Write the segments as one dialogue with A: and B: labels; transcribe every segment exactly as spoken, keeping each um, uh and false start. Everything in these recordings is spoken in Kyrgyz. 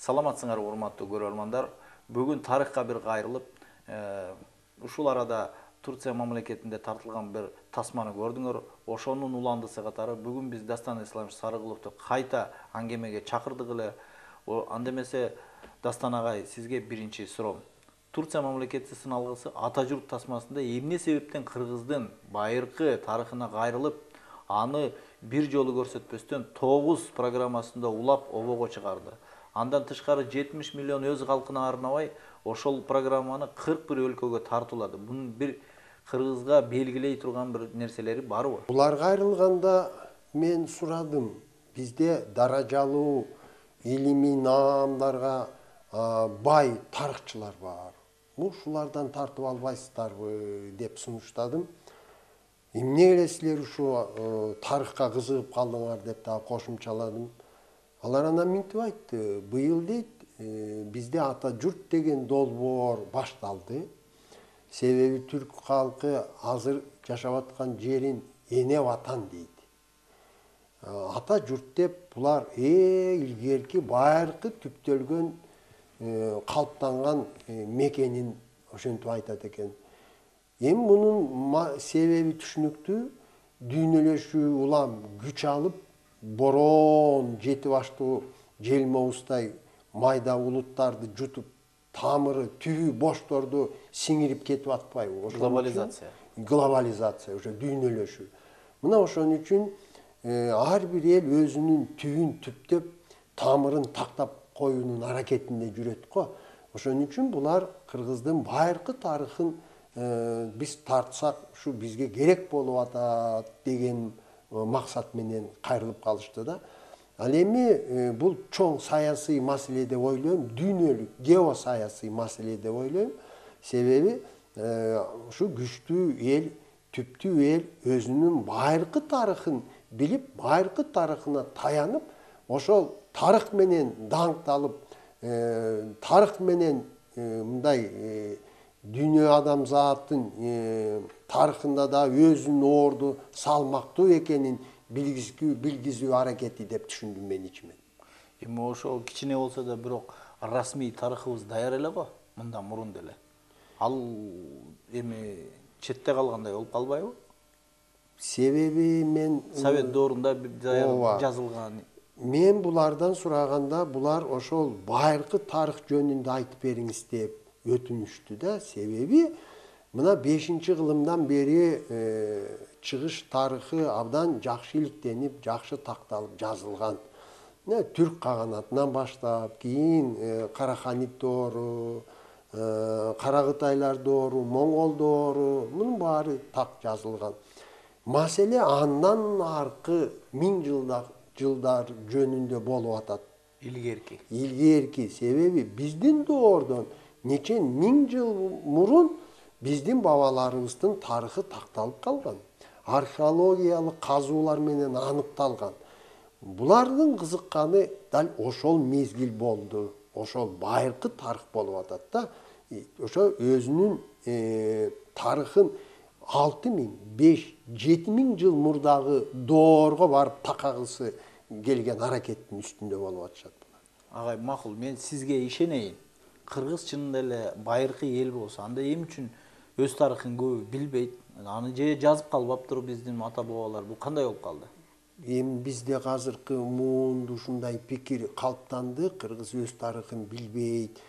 A: Саламатсыңар урматтуу көрөрмандар. Бүгүн тарыхка бир кайрылып, ушул арада Турция мамлекетинде тартылган бир тасманы көрдүңөр. Ошонун уландысы катары бүгүн биз Дастан Исламович Сарыгуловду кайта аңгемеге чакырдык эле. Анда эмесе Дастан агай, сизге биринчи суроом. Турция мамлекети сыналгысы ата журт тасмасында эмне себептен Кыргыздын байыркы тарыхына кайрылып, аны бир жолу көрсөтпөстөн тогуз программасында улап обого чыгарды. Андан тышкары жетимиш миллион өз калкына арнабай, ошол программаны кырк бир өлкөгө тартуулады. Бунун бир Кыргызга белгилей турган бир нерселери барбы?
B: Булар кайрылганда мен сурадым. Бизде даражалуу илимий наамдарга бай тарыхчылар бар. Ушулардан тартып албайсыздарбы деп сунуштадым. Эмне эле силер ушу тарыхка кызыгып калдыңар деп да кошумчаладым. Алар анан мынтип айтты. Быйыл дейт, бизде ата журт деген долбоор башталды. Себеби түрк калкы азыр жашап аткан жерин эне ватан дейт. Ата журт деп булар э илгерки байыркы түптөлгөн калыптанган мекенин ошентип айтат экен. Эми мунун себеби түшүнүктүү. Дүйнөлөшүү улам күч алып, бороон жети баштуу желмоустай майда улуттарды жутуп, тамыры, түбү бошторду сиңирип кетип атпайбы?
A: Глобализация.
B: Глобализация, ошо дүйнөлөшүү. Мына ошон үчүн ар бир эл өзүнүн түбүн түптөп, тамырын тактап коюунун аракетинде жүрөт го. Ошон үчүн булар Кыргыздын байыркы тарыхын биз тартсак, ушу бизге керек болуп атат деген максат менен кайрылып калышты да. Ал эми бул чоң саясий маселе деп ойлойм, дүйнөлүк геосаясий маселе деп ойлойм. Себеби ушу күчтүү эл, түптүү эл өзүнүн байыркы тарыхын билип, байыркы тарыхына таянып, ошол тарых менен даңкталып, тарых менен мындай дүйнө адамзаттын тарыхында да өзүнүн орду салмактуу экенин билгизүү билгизүү аракети деп түшүндүм мен ичимен.
A: Эми ошо кичине болсо да бирок расмий тарыхыбыз даяр эле го, мындан мурун деле. Ал эми четте калгандай болуп калбайбы?
B: Себеби мен
A: Совет доорунда жазылган.
B: Мен булардан сураганда, булар ошол байыркы тарых жөнүндө айтып бериңиз деп өтүнүштү да. Себеби мына бешинчи кылымдан бери чыгыш тарыхы абдан жакшы иликтенип, жакшы такталып жазылган. Түрк каганатынан баштап, кийин Караханит доору, Каракытайлар доору, Моңгол доору, мунун баары так жазылган. Маселе андан аркы миң жылдар жөнүндө болуп атат.
A: Илгерки.
B: Илгерки. Себеби биздин доордон нече миң жыл мурун биздин бабаларыбыздын тарыхы такталып калган. Археологиялык казуулар менен аныкталган. Булардын кызыкканы дал ошол мезгил болду. Ошол байыркы тарых болуп атат да. Ошо өзүнүн тарыхын алты миң, беш, жети миң жыл мурдагы доорго барып такагысы келген аракеттин үстүндө болуп атышат.
A: Агай, макул, мен сизге ишенейин. Кыргыз чынында эле байыркы эл болсо, анда эмне үчүн өз тарыхын көбү билбейт? Аны же жазып калбаптыр биздин ата бабалар. Бул кандай болуп калды?
B: Эми бизде азыркы муунду ушундай пикир калыптанды. Кыргыз өз тарыхын билбейт,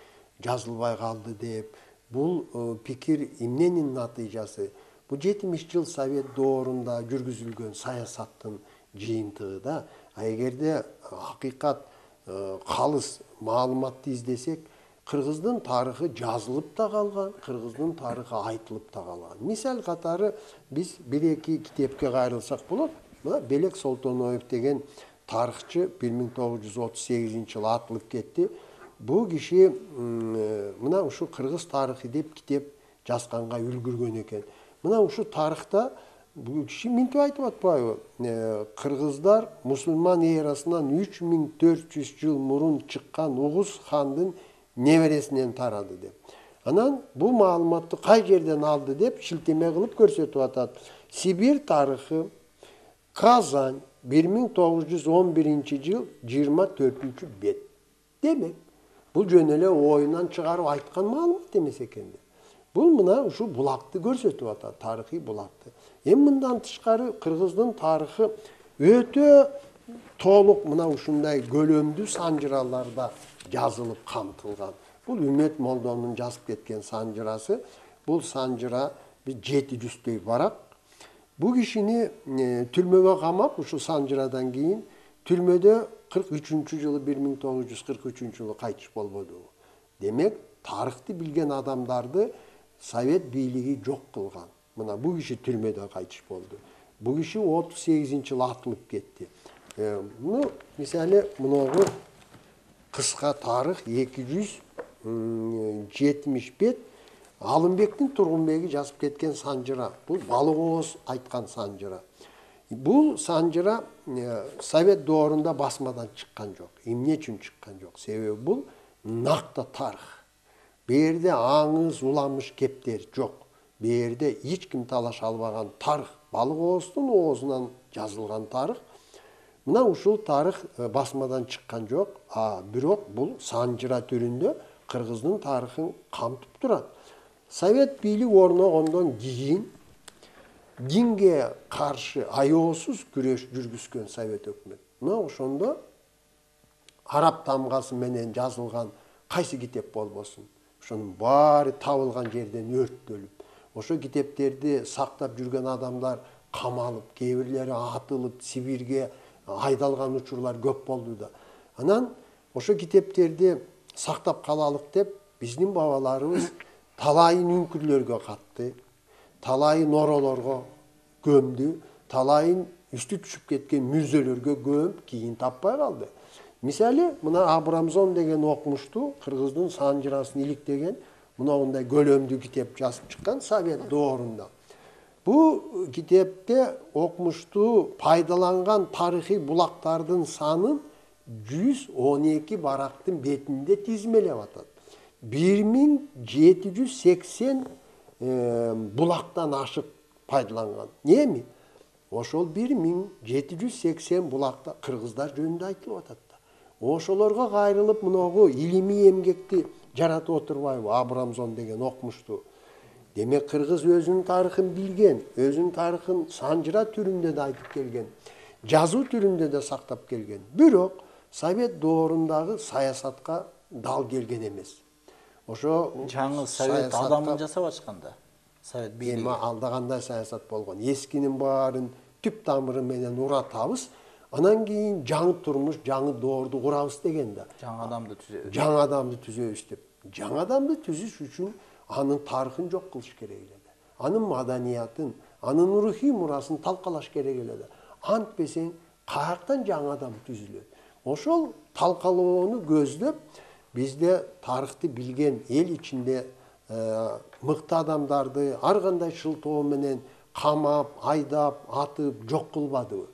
B: жазылбай калды деп. Бул пикир эмненин натыйжасы? Бул жетимиш жыл Совет доорунда жүргүзүлгөн саясаттын жыйынтыгы да. А эгерде акыйкат калыс маалыматты издесек, Кыргыздын тарыхы жазылып да калган, Кыргыздын тарыхы айтылып да калган. Мисал катары биз бир-эки китепке кайрылсак болот. Мына Белек Солтоноев деген тарыхчы бир миң тогуз жүз отуз сегизинчи жылы атылып кетти. Бул киши мына ушу Кыргыз тарыхы деп китеп жазганга үлгүргөн экен. Мына ушу тарыхта бул киши мынтип айтып атпайбы? Кыргыздар мусулман эрасынан үч миң төрт жүз жыл мурун чыккан Угуз хандын небересинен тарады деп. Анан бул маалыматты кай жерден алды деп шилтеме кылып көрсөтүп атат. Сибирь тарыхы, Казань, бир миң тогуз жүз он биринчи жыл жыйырма төртүнчү бет. Демек, Бул жөн эле оюнан чыгарып айткан маалымат эмес экен да. Бул мына ушу булакты көрсөтүп атат, тарыхый булакты. Эми мындан тышкары кыргыздын тарыхы өтө толук мына ушундай көлөмдүү санжыраларда жазылып камтылган. Бул Үмөт Молдонун жазып кеткен санжырасы. Бул санжыра жети жүздөй барак. Бул кишини түрмөгө камап, ушу санжырадан кийин түрмөдө кырк үчүнчү жылы бир миң тогуз жүз кырк үчүнчү жылы кайтыш болбоду. Демек, тарыхты билген адамдарды Совет бийлиги жок кылган. Мына бул киши түрмөдө кайтыш болду. Бул киши отуз сегизинчи жылы атылып кетти. Ну, мисалы, мыногу кыска тарых эки жүз жетимиш бет Алымбектин Тургунбеги жазып кеткен санжыра. Бул Балык ооз айткан санжыра. Бул санжыра Совет доорунда басмадан чыккан жок. Эмне үчүн чыккан жок? Себеби бул накта тарых. Берде аңыз, уламыш кептер жок. Берде эч ким талаша албаган тарых. Балык ооздун оозунан жазылган тарых. Мына ушул тарых басмадан чыккан жок, а бирок бул санжыра түрүндө кыргыздын тарыхын камтып турат. Совет бийлик орногондон кийин динге каршы аеосуз күрөш жүргүзгөн Совет өкмөт. Мына ошондо араб тамгасы менен жазылган кайсы китеп болбосун, ошонун баары табылган жерден өрттөлүп, ошо китептерди сактап жүргөн адамдар камалып, кээ бирлери атылып, Сибирге айдалган учурлар көп болду да. Анан ошо китептерди сактап калалык деп биздин бабаларыбыз талайын үңкүрлөргө катты, талайын оролорго көмдү, талайын үстү түшүп кеткен мүрзөлөргө көмүп, кийин таппай калды. Мисалы, мына Абрамзон деген окумуштуу кыргыздын санжырасын иликтеген мындай көлөмдүү китеп жазып чыккан Совет доорунда. Бул китепте окумуштуу пайдаланган тарыхый булактардын санын жүз он эки барактын бетинде тизмелеп атат. бир миң жети жүз сексен булактан ашык пайдаланган. Эми ошол бир миң жети жүз сексен булакта кыргыздар жөнүндө айтылып атат да. Ошолорго кайрылып мыногу илимий эмгекти жаратып отурбайбы Абрамзон деген окумуштуу. Демек кыргыз өзүнүн тарыхын билген, өзүнүн тарыхын санжыра түрүндө да айтып келген, жазуу түрүндө да сактап келген. Бирок Совет доорундагы саясатка дал келген эмес. Ошо
A: жаңы Совет адамын жасап ачканда. Совет бийлиги.
B: Эми алда кандай саясат болгон? Эскинин баарын түп тамыры менен уратабыз, анан кийин жаңы турмуш, жаңы доорду курабыз деген да.
A: Жаңы адамды түзөбүз.
B: Жаңы адамды түзөбүз деп. Жаңы адамды түзүш үчүн анын тарыхын жок кылыш керек эле да. Анын маданиятын, анын рухий мурасын талкалаш керек эле да. Антпесең, каяктан жаңы адам түзүлөт? Ошол талкалоону көздөп, бизде тарыхты билген эл ичинде мыкты адамдарды ар кандай шылтоо менен камап, айдап, атып, жок кылбадыбы?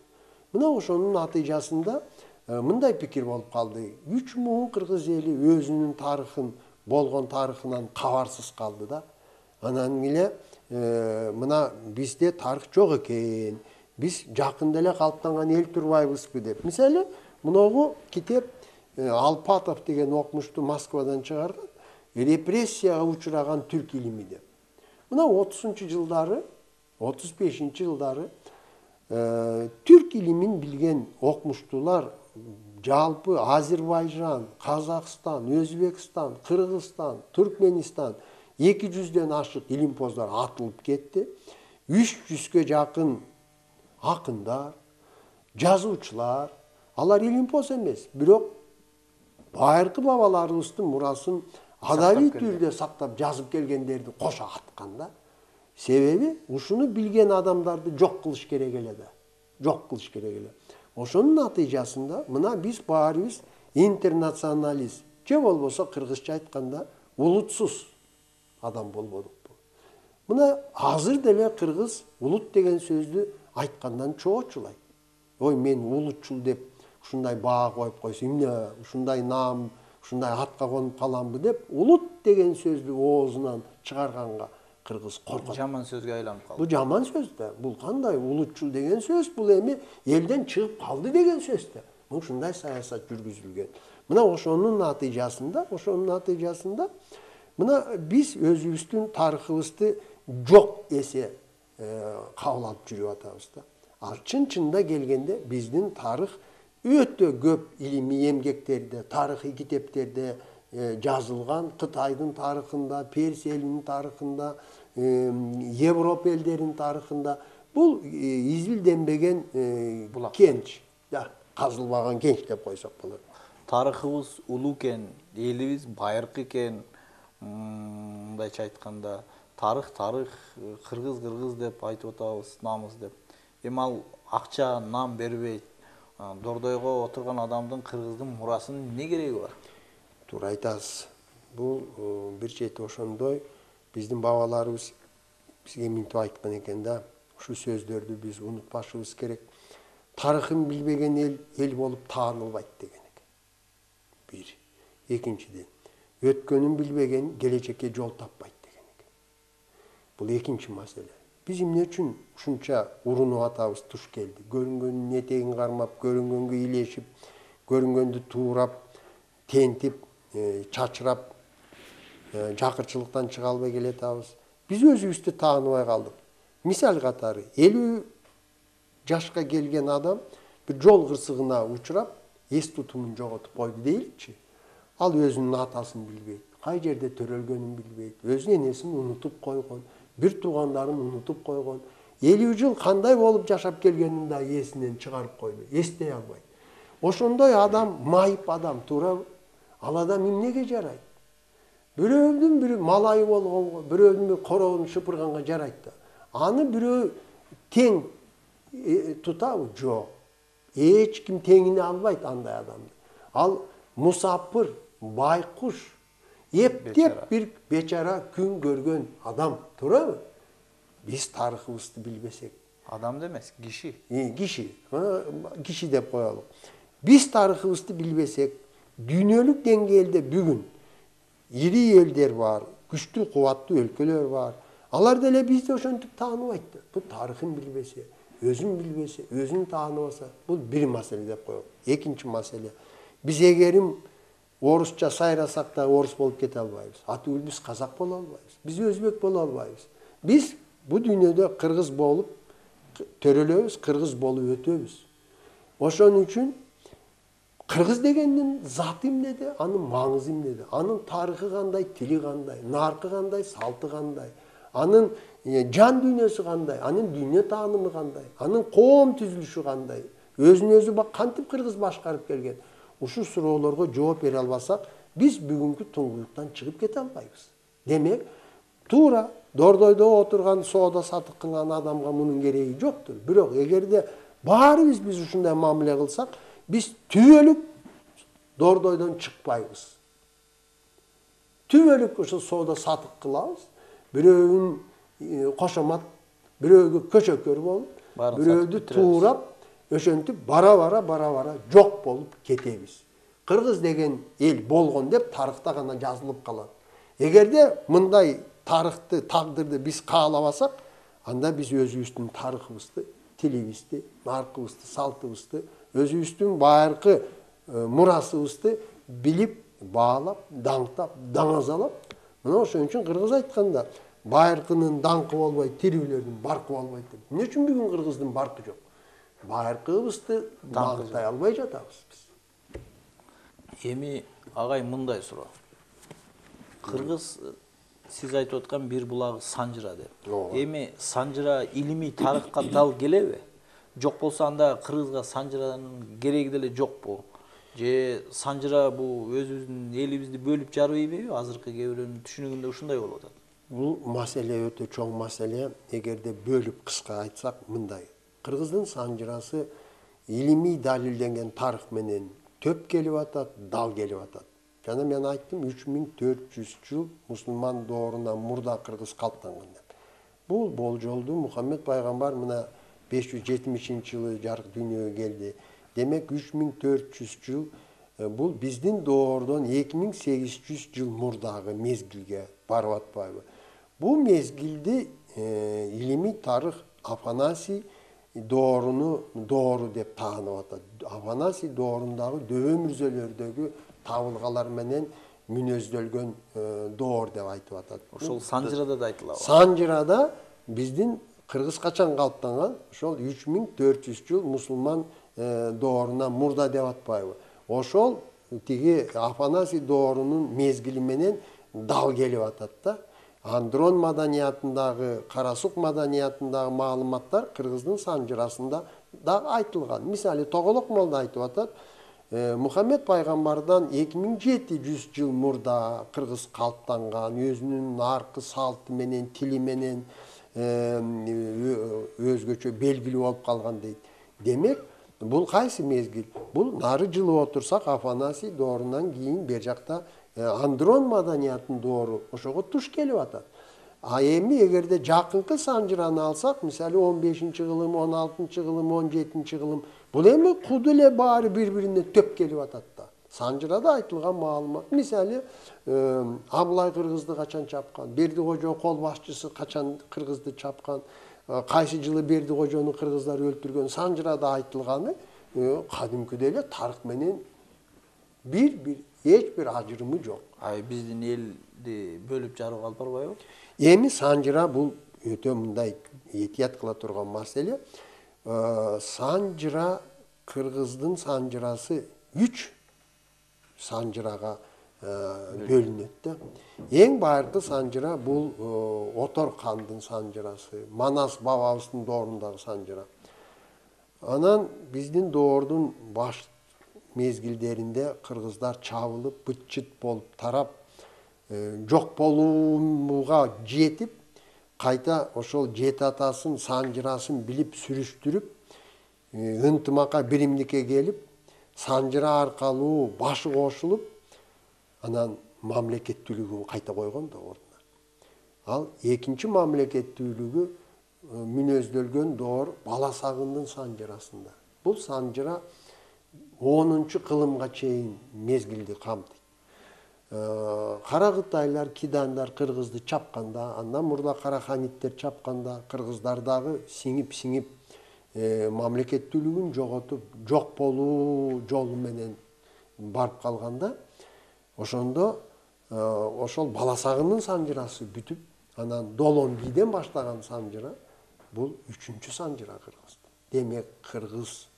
B: Мына ошонун натыйжасында мындай пикир болуп калды. үч миң кыргыз эли өзүнүн тарыхын, болгон тарыхынан кабарсыз калды да. Анан эле мына бизде тарых жок экен. Биз жакында эле калыптанган эл турбайбызбы деп. Мисалы, мыногу китеп Алпатов деген окумуштуу Москвадан чыгарган репрессияга учураган түрк илими деп. Мына отузунчу жылдары, отуз бешинчи жылдары түрк илимин билген окумуштуулар жалпы Азербайжан, Казакстан, Өзбекстан, Кыргызстан, Түркменистан эки жүздөн ашык илимпоздор атылып кетти. үч жүзгө жакын акындар, жазуучулар, алар илимпоз эмес, бирок байыркы бабаларыбыздын мурасын адабий түрдө сактап жазып келгендерди кошо аткан да. Себеби ушуну билген адамдарды жок кылыш керек эле да. Жок кылыш керек эле. Ошонун натыйжасында мына биз баарыбыз интернационалист, же болбосо кыргызча айтканда улутсуз адам болбодукпу. Мына азыр деле кыргыз улут деген сөздү айткандан чоочулайт. Ой, мен улутчул деп ушундай баа коюп койсо, эмне ушундай наам, ушундай атка конуп каламбы деп улут деген сөздү оозунан чыгарганга кыргыз коркот.
A: Жаман сөзгө айланып калды.
B: Бул жаман сөз да. Бул кандай улутчул деген сөз? Бул эми элден чыгып калды деген сөз да. Ушундай саясат жүргүзүлгөн. Мына ошонун натыйжасында, ошонун натыйжасында мына биз өзүбүздүн тарыхыбызды жок эсе кабыл алып жүрүп атабыз да. Ал чын-чынында келгенде биздин тарых өтө көп илимий эмгектерде, тарыхый китептерде жазылган. Кытайдын тарыхында, Персия элинин тарыхында, Европа элдеринин тарыхында бул изилденбеген кенч, казылбаган кенч деп койсок болот.
A: Тарыхыбыз улуу экен, элибиз байыркы экен. Мындайча айтканда, тарых тарых, кыргыз кыргыз деп айтып атабыз, намыз деп. Эми ал акча, нам бербейт. Дордойго отурган адамдын кыргыздын мурасынын эмне кереги бар?
B: Туура айтасыз. Бул бир чети ошондой биздин бабаларыбыз бизге минтип айткан экен да. Ушул сөздөрдү биз унутпашыбыз керек. Тарыхын билбеген эл эл болуп таанылбайт деген экен. Бир. Экинчиден, өткөнүн билбеген келечекке жол таппайт деген экен. Бул экинчи маселе. Биз эмне үчүн ушунча урунуп атабыз туш келди? Көрүнгөндүн этегин кармап, көрүнгөнгө илешип, көрүнгөндү туурап, тентип, чачырап, жакырчылыктан чыга албай келатабыз. Биз өзүбүздү тааныбай калдык. Мисал катары, элүү жашка келген адам бир жол кырсыгына учурап, эс тутумун жоготуп койду дейlikçi. Ал өзүнүн атасын билбейт, кай жерде төрөлгөнүн билбейт, өзүнүн энесин унутуп койгон, бир туугандарын унутуп койгон. элүү жыл кандай болуп жашап келгенин да эсинен чыгарып койду, эстей албайт. Ошондой адам майып адам, туурабы? Ал адам эмнеге жарайт? Бирөөдүн бири малайы болгонго, бирөөдүн бири короонун шыпырганга жарайт да. Аны бирөө тең тутабы? Жок. Эч ким теңине албайт андай адамды. Ал мусапыр, байкуш, эптеп бир бечара күн көргөн адам, туурабы? Биз тарыхыбызды билбесек.
A: Адам демес, киши.
B: Киши, киши деп коелу. Биз тарыхыбызды билбесек, дүйнөлүк деңгээлде бүгүн ири элдер бар, күчтүү, кубаттуу өлкөлөр бар. Алар деле бизди ошентип тааныбайт да. Бул тарыхын билбесе, өзүн билбесе, өзүн тааныбаса, бул бир маселе деп коелу. Экинчи маселе. Биз эгерим орусча сайрасак да орус болуп кете албайбыз. Атүгүл биз казак боло албайбыз. Биз өзбек боло албайбыз. Биз бу дүйнөдө кыргыз болуп төрөлөбүз, кыргыз болуп өтөбүз. Ошон үчүн кыргыз дегендин заты эмнеде, анын маңызы эмнеде, анын тарыхы кандай, тили кандай, наркы кандай, салты кандай, анын жан дүйнөсү кандай, анын дүйнө таанымы кандай, анын коом түзүлүшү кандай, өзүн өзү кантип кыргыз башкарып келген. Ушул суроолорго жооп бере албасак, биз бүгүнкү туңгуюктан чыгып кете албайбыз. Демек, туура Дордойдо отурган соода сатык кылган адамга мунун кереги жоктур. Бирок эгерде баарыбыз биз ушундай мамиле кылсак, биз түбөлүк Дордойдон чыкпайбыз. Түбөлүк ошо соода сатык кылабыз. Бирөөнүн кошомат, бирөөгө көчөкөр болуп, бирөөдү туурап, ошентип бара-бара бара-бара жок болуп кетебиз. Кыргыз деген эл болгон деп тарыхта гана жазылып калат. Эгерде мындай тарыхты, тагдырды биз каалабасак, анда биз өзүбүздүн тарыхыбызды, тилибизди, наркыбызды, салтыбызды, өзүбүздүн байыркы мурасыбызды билип, баалап, даңктап, даңазалап, мына ошон үчүн кыргыз айтканда, байыркынын даңкы болбойт, тирүүлөрдүн баркы болбойт деп. Эмне үчүн бүгүн кыргыздын баркы жок? Байыркыбызды даңктай албай жатабыз биз.
A: Эми агай мындай суроо. Кыргыз сиз айтып аткан бир булагы Санжыра деп. Эми Санжыра илимий тарыхка дал келеби? Жок болсо анда кыргызга Санжыранын кереги деле жокпу? Же Санжыра бул өзүбүздүн элибизди бөлүп жарбайбы? Азыркы кээ бирөөнүн түшүнүгүндө ушундай болуп атат.
B: Бул маселе өтө чоң маселе. Эгерде бөлүп кыска айтсак мындай. Кыргыздын Санжырасы илимий далилденген тарых менен төп келип атат, дал келип атат. Жана мен айттым, үч миң төрт жүз жыл мусулман доорунан мурда кыргыз калыптанган деп. Бул болжолду Мухаммед пайгамбар мына беш жүз жетимишинчи жылы жарык дүйнөгө келди. Демек үч миң төрт жүз жыл бул биздин доордон эки миң сегиз жүз жыл мурдагы мезгилге барып атпайбы? Бул мезгилди илимий тарых Афанасий дооруну доору деп таанып атат. Афанасий доорундагы дөбө мүрзөлөрдөгү табылгалар менен мүнөздөлгөн доор деп айтып атат.
A: Ошол Санжырада да айтылабы?
B: Санжырада биздин кыргыз качан калыптанган? Ошол үч миң төрт жүз жыл мусулман доорунан мурда деп атпайбы? Ошол тиги Афанасий доорунун мезгили менен дал келип атат да. Андрон маданиятындагы, Карасук маданиятындагы маалыматтар кыргыздын Санжырасында да айтылган. Мисалы Тоголок молда айтып атат, Мухаммед пайгамбардан эки миң жети жүз жыл мурда кыргыз калыптанган, өзүнүн наркы салты менен, тили менен өзгөчө белгилүү болуп калган дейт. Демек, бул кайсы мезгил? Бул нары жылып отурсак Афанасий доорунан кийин бер жакта Андрон маданиятынын доору ошого туш келип атат. А эми эгерде жакынкы Санжыраны алсак, мисалы он бешинчи кылым, он алтынчы кылым, он жетинчи кылым, бул эми куду эле баары бири-бирине төп келип атат да. Санжырада айтылган маалымат, мисалы Абылай кыргызды качан чапкан, Бердикожо кол башчысы качан кыргызды чапкан, кайсы жылы Бердикожону кыргыздар өлтүргөн, Санжырада айтылганы кадимкидей эле тарых менен бир-бир эч бир ажырымы жок.
A: Ай биздин элди бөлүп жарып алып барбайбы?
B: Эми Санжыра бул өтө мындай этият кыла турган маселе. Санжыра кыргыздын Санжырасы үч Санжырага бөлүнөт да. Эң байыркы Санжыра бул Отор хандын Санжырасы, Манас бабабыздын доорундагы Санжыра. Анан биздин доордун баш мезгилдеринде кыргыздар чабылып, быт-чыт болуп тарап, жок болууга жетип, кайта ошол жети атасын Санжырасын билип сүрүштүрүп, ынтымакка биримдикке келип, Санжыра аркалуу башы кошулуп, анан мамлекеттүүлүгүн кайта койгон да ордуна. Ал экинчи мамлекеттүүлүгү мүнөздөлгөн доор Баласагындын Санжырасында. Бул Санжыра онунчу кылымга чейин мезгилди камтыйт. Каракытайлар, кидандар кыргызды чапканда, андан мурда караханиттер чапканда, кыргыздар дагы сиңип-сиңип мамлекеттүүлүгүн жоготуп, жок болуу жолу менен барып калганда, ошондо ошол Баласагындын Санжырасы бүтүп, анан Долон бийден баштаган Санжыра бул үчүнчү Санжыра кыргызды. Демек, кыргыз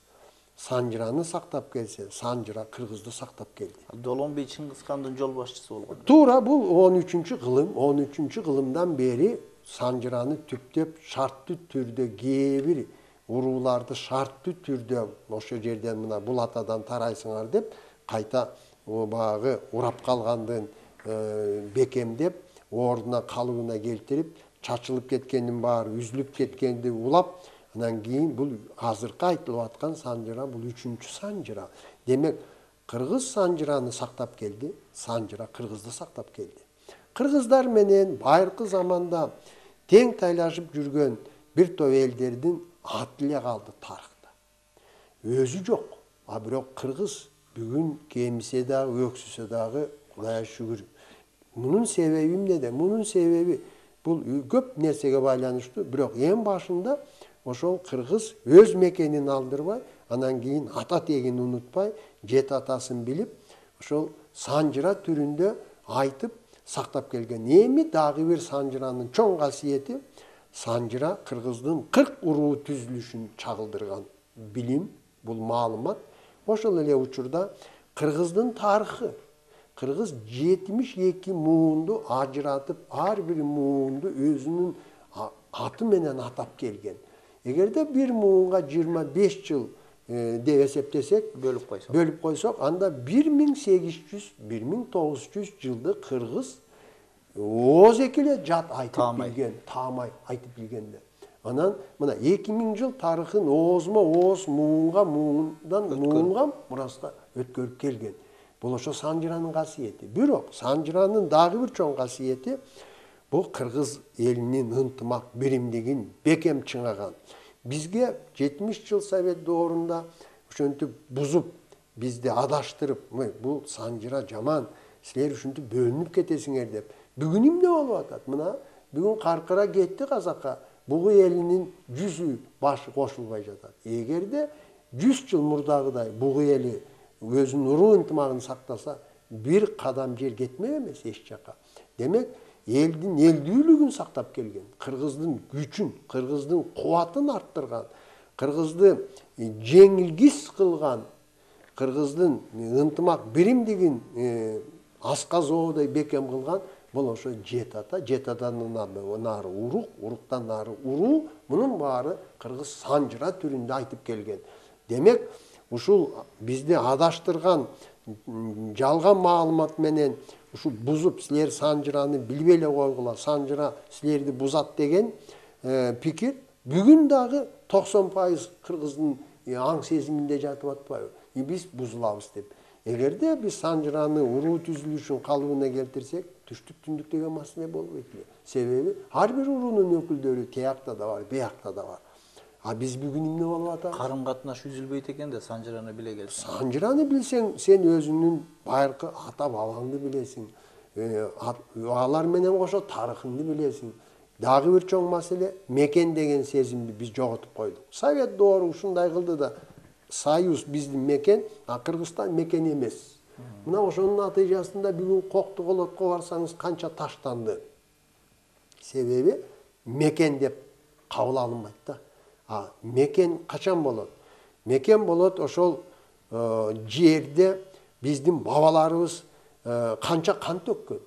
B: Санжыраны сактап келсе, Санжыра кыргызды сактап келди.
A: Долон бей Чыңгыз хандын жол башчысы болгон.
B: Туура, бул он үчүнчү кылым, он үчүнчү кылымдан бери Санжыраны түптөп шарттуу түрдө кээ бир урууларды шарттуу түрдө ошол жерден мына бул атадан тарайсыңар деп кайта багы урап калгандын бекемдеп, ордуна калыбына келтирип, чачылып кеткендин баары үзүлүп кеткенди улап, анан кийин бул азыркы айтылып аткан Санжыра бул үчүнчү Санжыра. Демек, кыргыз Санжыраны сактап келди, Санжыра кыргызды сактап келди. Кыргыздар менен байыркы заманда тең тайлашып жүргөн бир топ элдердин аты эле калды тарыхта. Өзү жок, а бирок кыргыз бүгүн кемисе дагы, өксүсө дагы Кудайга шүгүр. Мунун себеби эмнеде? Мунун себеби бул көп нерсеге байланыштуу, бирок эң башында ошол кыргыз өз мекенин алдырбай, анан кийин ата тегин унутпай, жети атасын билип, ошол Санжыра түрүндө айтып сактап келген. Эми дагы бир Санжыранын чоң касиети Санжыра кыргыздын кырк уруу түзүлүшүн чагылдырган билим, бул маалымат. Ошол эле учурда кыргыздын тарыхы, кыргыз жетимиш эки муунду ажыратып, ар бир муунду өзүнүн аты менен атап келген. Эгерде бир муунга жыйырма беш жыл деп эсептесек,
A: бөлүп койсок,
B: бөлүп койсок, анда бир миң сегиз жүз, бир миң тогуз жүз жылды кыргыз ооз эки эле жат айтып билген, таамай айтып билгенде. Анан мына эки миң жыл тарыхын оозмо ооз, муунга муундан муунга мураска өткөрүп келген. Бул ошо Санжыранын касиети. Бирок Санжыранын дагы бир чоң касиети бул кыргыз элинин ынтымак биримдигин бекем чыңаган. Бизге жетимиш жыл Совет доорунда ошентип бузуп, бизди адаштырып, бул Санжыра жаман, силер ушинтип бөлүнүп кетесиңер деп. Бүгүн эмне болуп атат? Мына бүгүн каркыра кетти казакка. Бугу элинин жүзү башы кошулбай жатат. Эгерде жүз жыл мурдагыдай бугу эли өзүнүн уруу ынтымагын сактаса, бир кадам жер кетмек эмес эч жака. Демек, элдин элдүүлүгүн сактап келген, кыргыздын күчүн, кыргыздын кубатын арттырган, кыргызды жеңилгис кылган, кыргыздын ынтымак биримдигин асказоодой бекем кылган бул ошо жет ата, жет атадан нары урук, уруктан нары уруу, мунун баары кыргыз санжыра түрүндө айтып келген. Демек, ушул бизди адаштырган жалган маалымат менен ушул бузуп силер санжыраны билбей эле койгула, санжыра силерди бузат деген пикир бүгүн дагы токсон пайыз кыргыздын аң сезиминде жатып атпайбы? Биз бузулабыз деп. Эгерде биз санжыраны уруу түзүлүшүн калыбына келтирсек, түштүк түндүк деген маселе болбойт эле. Себеби ар бир уруунун өкүлдөрү тиякта да бар, биякта да бар. А биз бүгүн эмне болуп атабыз?
A: Карым катнаш үзүлбөйт экен да санжыраны биле келсең.
B: Санжыраны билсең, сен өзүнүн байыркы ата бабаңды билесиң. Алар менен кошо тарыхыңды билесиң. Дагы бир чоң маселе мекен деген сезимди биз жоготуп койдук. Совет доору ушундай кылды да, Союз биздин мекен, а Кыргызстан мекен эмес. Мына ошонун натыйжасында бүгүн Коктуголотко барсаңыз канча таштанды. Себеби мекен деп кабыл алынбайт да. А мекен качан болот? Мекен болот ошол жерде биздин бабаларыбыз канча кан төккөн,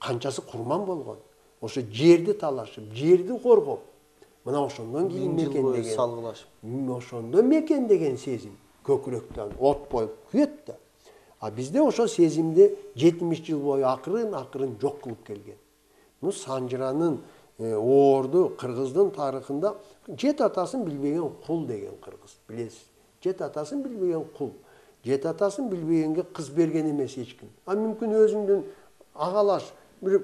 B: канчасы курман болгон. Ошо жерди талашып, жерди коргоп, мына ошондон кийин мекен деген
A: салгылашып.
B: Ошондо мекен деген сезим көкүрөктөн от боюп күйөт да. А бизде ошо сезимди жетимиш жыл бою акырын акырын жок кылып келген. Бул санжыранын оорду кыргыздын тарыхында жет атасын билбеген кул деген кыргыз, билесиз. Жет атасын билбеген кул. Жет атасын билбегенге кыз берген эмес эч ким. А мүмкүн өзүңдүн агалаш бир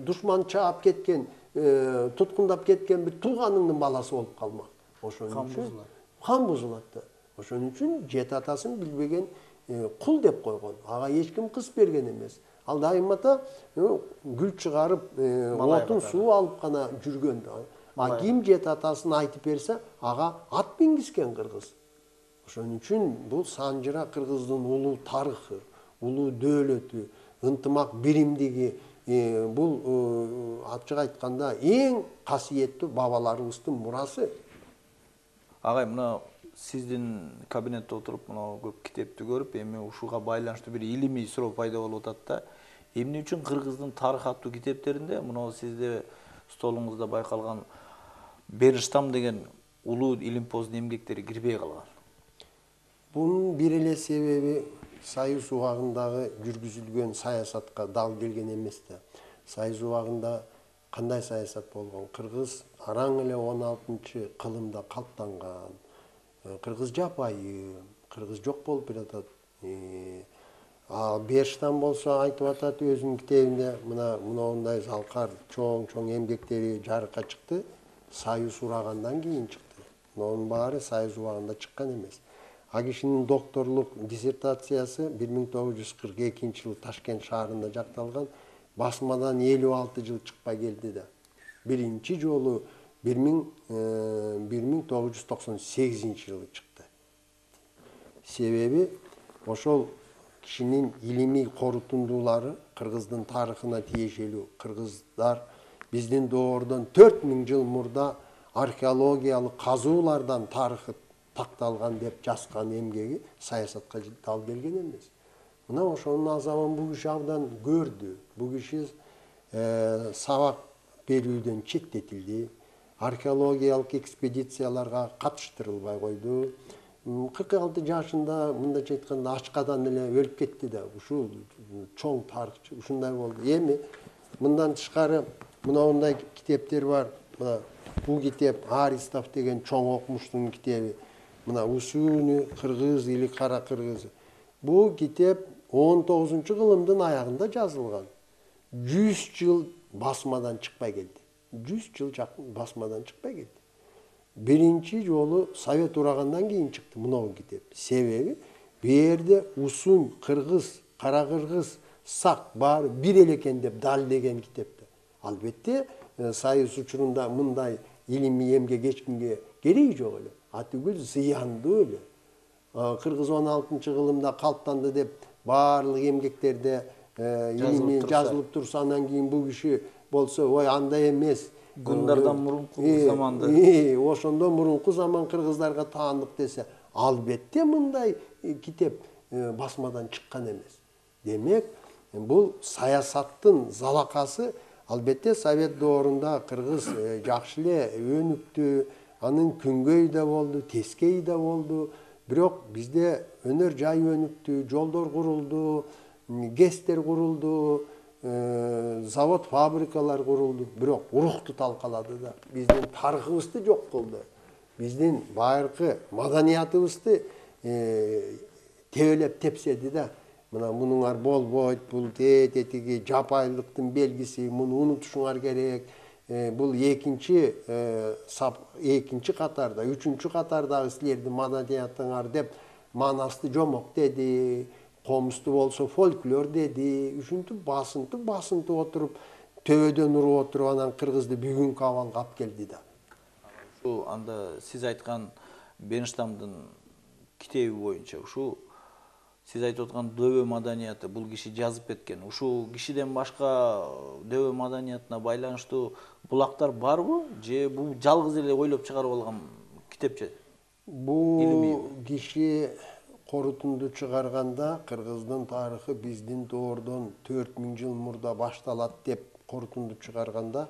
B: душман чаап кеткен, туткундап кеткен бир тууганыңдын баласы болуп калмак. Ошон үчүн кан бузулат да. Ошон үчүн жет атасын билбеген кул деп койгон. Ага эч ким кыз берген эмес. Ал дайымата гүл чыгарып, отун суу алып гана жүргөн. А ким жет атасын айтып берсе, ага ат мингизген кыргыз. Ошон үчүн бул санжыра кыргыздын улуу тарыхы, улуу дөөлөтү, ынтымак биримдиги, бул ачык айтканда эң касиеттүү бабаларыбыздын мурасы.
A: Агай, мына сиздин кабинетте отуруп, мына көп китепти көрүп, эми ушуга байланыштуу бир илимий суроо пайда болуп атат да. Эмне үчүн кыргыздын тарых аттуу китептеринде мына сизде столуңузда байкалган Бериштам деген улуу илимпоздун эмгектери кирбей калган?
B: Бунун бир эле себеби Союз убагындагы жүргүзүлгөн саясатка дал келген эмес да. Союз убагында кандай саясат болгон? Кыргыз араң эле он алтынчы кылымда калыптанган. Кыргыз жапайы, кыргыз жок болуп жатат. А Бериштам болсо айтып атат өзүнүн китебинде, мына мындай залкар чоң-чоң эмгектери жарыкка чыкты, Союз урагандан кийин чыкты. Мунун баары Союз убагында чыккан эмес. А кишинин докторлук диссертациясы бир миң тогуз жүз кырк экинчи жылы Ташкент шаарында жакталган, басмадан элүү алты жыл чыкпай келди да. Биринчи жолу бир миң тогуз жүз токсон сегизинчи жылы чыкты. Себеби ошол кишинин илимий корутундуулары кыргыздын тарыхына тиешелүү. Кыргыздар биздин доордон төрт миң жыл мурда археологиялык казуулардан тарыхы такталган деп жазган эмгеги саясатка дал келген эмес. Мына ошонун азабын бул киши абдан көрдү. Бул киши сабак берүүдөн четтетилди. Археологиялык экспедицияларга катыштырылбай койду. кырк алты жашында мындайча айтканда ачкадан эле өлүп кетти да. Ушул чоң тарыхчы ушундай болду. Эми мындан тышкары мындай китептер бар. Мына бул китеп Аристов деген чоң окумуштун китеби. Мына Усуни кыргыз или кара кыргыз. Бул китеп он тогузунчу кылымдын аягында жазылган. жүз жыл басмадан чыкпай келди. жүз жыл басмадан чыкпай келди. Биринчи жолу Совет урагандан кийин чыкты мынау китеп. Себеби бу жерде Усун, кыргыз, кара кыргыз, сак баары бир эле экен деп далилдеген китепте. Албетте Союз учурунда мындай илимий эмгек эч кимге кереги жок эле. Атүгүл зыяндуу эле. Кыргыз он алтынчы кылымда калыптанды деп баарлык эмгектерде илимий жазылып турса, анан кийин бул киши болсо, ой андай эмес.
A: Гундардан мурунку заманда.
B: Ошондон мурунку заман кыргыздарга таандык десе, албетте мындай китеп басмадан чыккан эмес. Демек, бул саясаттын залакасы албетте Совет доорунда кыргыз жакшы эле өнүктү, анын күнгөй да болду, тескей да болду. Бирок бизде өнөр жай өнүктү, жолдор курулду, ГЭСтер курулду, завод, фабрикалар курулду. Бирок урукту талкалады да, биздин тарыхыбызды жок кылды. Биздин байыркы маданиятыбызды тебелеп тепседи да. Мына мунуңар болбойт, бул тететиги жапайылыктын белгиси, муну унутушуңар керек. Бул экинчи экинчи катарда, үчүнчү катардагы силердин маданиятыңар деп манасты жомок деди, комузду болсо фольклор деди, ушинтип басынтып басынтып отуруп, төбөдөн уруп отуруп анан кыргызды бүгүнкү абалга алып келди да.
A: Ушу анда сиз айткан Бенштамдын китеби боюнча ушу сиз айтып аткан дөбө маданияты бул киши жазып кеткен. Ушул кишиден башка дөбө маданиятына байланыштуу булактар барбы? Же бул жалгыз эле ойлоп чыгарып алган китепче?
B: Бул киши корутунду чыгарганда кыргыздын тарыхы биздин доордон төрт миң жыл мурда башталат деп корутунду чыгарганда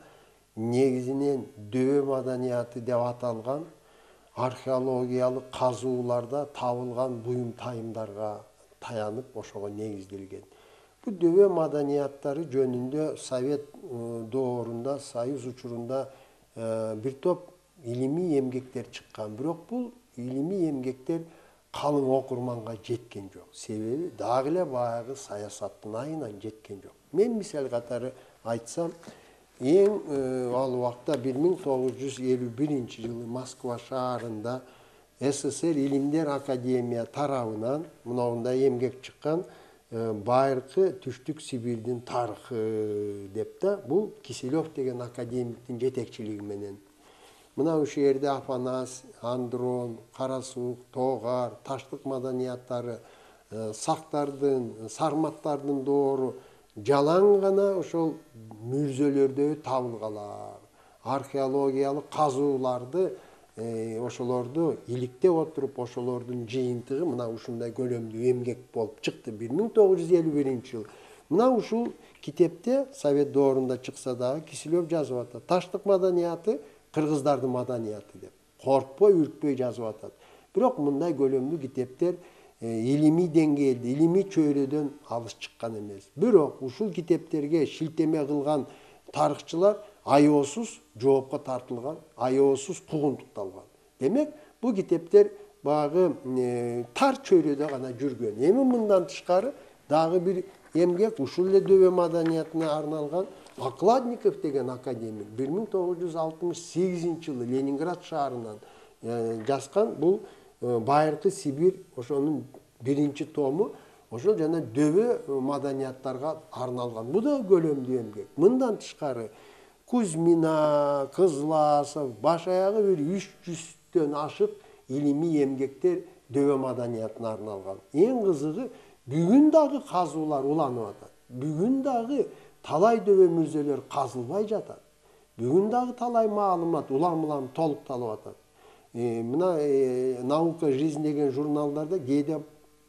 B: негизинен дөбө маданияты деп аталган археологиялык казууларда табылган буюм тайымдарга таянып ошого негизделген. Бул дөбө маданияттары жөнүндө Совет доорунда, Союз учурунда бир топ илимий эмгектер чыккан. Бирок бул илимий эмгектер калың окурманга жеткен жок. Себеби дагы эле баягы саясаттын айынан жеткен жок. Мен мисал катары айтсам, эң ал убакта бир миң тогуз жүз элүү биринчи жылы Москва шаарында СССР Илимдер академия тарабынан мындай эмгек чыккан байыркы Түштүк Сибирдин тарыхы деп да, бул Киселев деген академиктин жетекчилиги менен. Мына ушул жерде Афанас, Андрон, Кара Суук, Тоогар, Таштык маданияттары, Сактардын, Сарматтардын доору жалаң гана ошол мүрзөлөрдө табылгалар. Археологиялык казууларды ошолорду иликтеп отуруп, ошолордун жыйынтыгы мына ушундай көлөмдүү эмгек болуп чыкты бир миң тогуз жүз элүү биринчи жылы. Мына ушул китепте Совет доорунда чыкса дагы Киселев жазып атат. Таштык маданияты кыргыздардын маданияты деп. Коркпой, үркпөй жазып атат. Бирок мындай көлөмдүү китептер илимий деңгээлде, илимий чөйрөдөн алыс чыккан эмес. Бирок ушул китептерге шилтеме кылган тарыхчылар аеосуз жоопко тартылган, аеосуз куугунтукталган. Демек, бул китептер багы тар чөйрөдө гана жүргөн. Эми мындан тышкары дагы бир эмгек ушул эле дөбө маданиятына арналган Окладников деген академик бир миң тогуз жүз алтымыш сегизинчи жылы Ленинград шаарынан жазган бул байыркы Сибир, ошонун биринчи тому, ошол жана дөбө маданияттарга арналган. Бул да көлөмдүү эмгек. Мындан тышкары Кузьмина, Кызласов, баш аягы бир үч жүздөн ашык илимий эмгектер дөбө маданиятына арналган. Эң кызыгы бүгүн дагы казуулар уланып атат. Бүгүн дагы талай дөбө мүрзөлөр казылбай жатат. Бүгүн дагы талай маалымат улам-улам толукталып атат. Мына Наука жизнь деген журналдарда кээде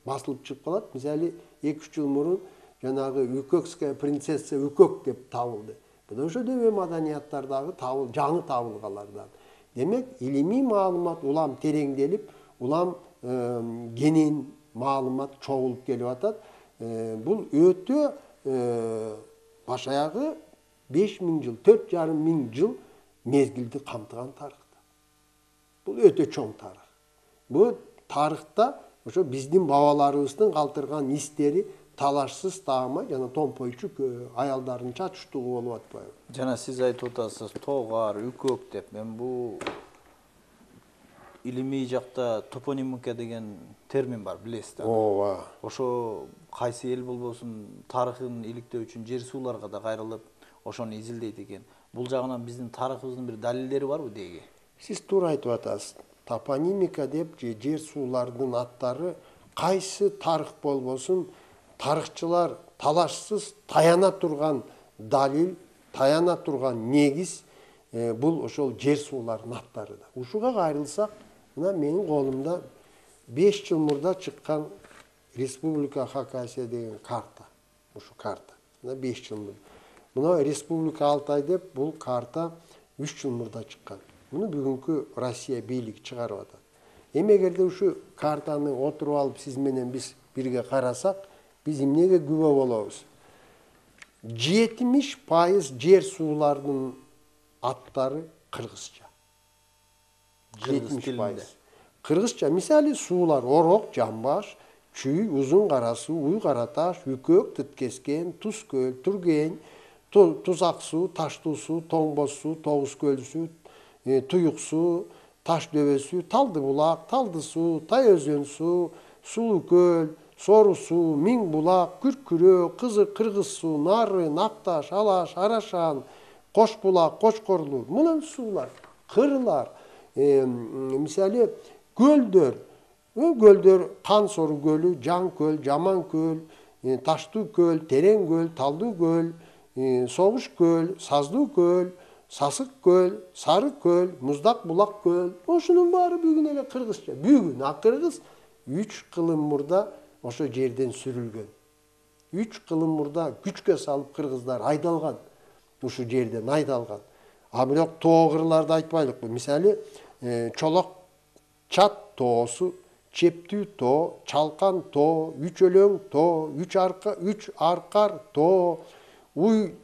B: басылып чыгып калат. Мисалы эки үч жыл мурун жанагы Үкөкская принцесса Үкөк деп табылды. Бул ошо дөбө маданияттардагы табыл, жаңы табылгалардан. Демек, илимий маалымат улам тереңделип, улам кенен маалымат чогулуп келип атат. Бул өтө баш аягы беш миң жыл, төрт жарым миң жыл мезгилди камтыган тарыхта. Бул өтө чоң тарых. Бул тарыхта ошо биздин бабаларыбыздын калтырган истери талашсыз таама жана томпойчу аялдардын чачыштугу болуп атпайбы?
A: Жана сиз айтып атасыз Тоогар, Үкөк деп. Мен бул илимий жакта топонимика деген термин бар, билесиз да?
B: Ооба.
A: Ошо кайсы эл болбосун тарыхын иликтөө үчүн жер сууларга да кайрылып, ошону изилдейт экен. Бул жагынан биздин тарыхыбыздын бир далилдери барбы деги?
B: Сиз туура айтып атасыз. Топонимика деп же жер суулардын аттары кайсы тарых болбосун тарыхчылар талашсыз таяна турган далил, таяна турган негиз бул ошол жер суулардын аттары да. Ушуга кайрылсак, мына менин колумда беш жыл мурда чыккан Республика Хакасия деген карта. Ушу карта. Мына беш жыл мурда. Мына Республика Алтай деп бул карта үч жыл мурда чыккан. Муну бүгүнкү Россия бийлиги чыгарып атат. Эми эгерде ушу картаны отуруп алып сиз менен биз бирге карасак, биз эмнеге күбө болобуз? жетимиш пайыз жер суулардын аттары кыргызча. жетимиш пайыз. Кыргызча. Мисалы суулар Орок, Жамбаш, Чүй, Узун кара суу, Уй кара таш, Үкөк, Тыткескен, Туз көл, Түрген, Тузак суу, Таштуу суу, Тоңбоз суу, Тогуз көл суу, Туюк суу, Таш дөбө суу, Талды булак, Талды суу, Тай өзөн суу, Сулуу көл, Сору суу, Миң булак, Күркүрө, Кызык кыргыз суу, Нары, Накташ, Алаш, Арашан, Кош булак, Кочкорлуу. Мына суулар, кырлар, мисалы көлдөр, көлдөр Кан Сору көлү, Жан көл, Жаман көл, Таштуу көл, Терең көл, Талдуу көл, Согуш көл, Саздуу көл, Сасык көл, Сары көл, Муздак булак көл. Ошонун баары бүгүн эле кыргызча. Бүгүн а кыргыз үч кылым мурда ошо жерден сүрүлгөн. үч кылым мурда күчкө салып кыргыздар айдалган. Ушу жерден айдалган. А бирок тоо кырларды айтпайлыкпы. Мисалы, Чолок Чат тоосу, Чептүү тоо, Чалкан тоо, Үч өлөң тоо, Үч арка, Үч аркар тоо, Уй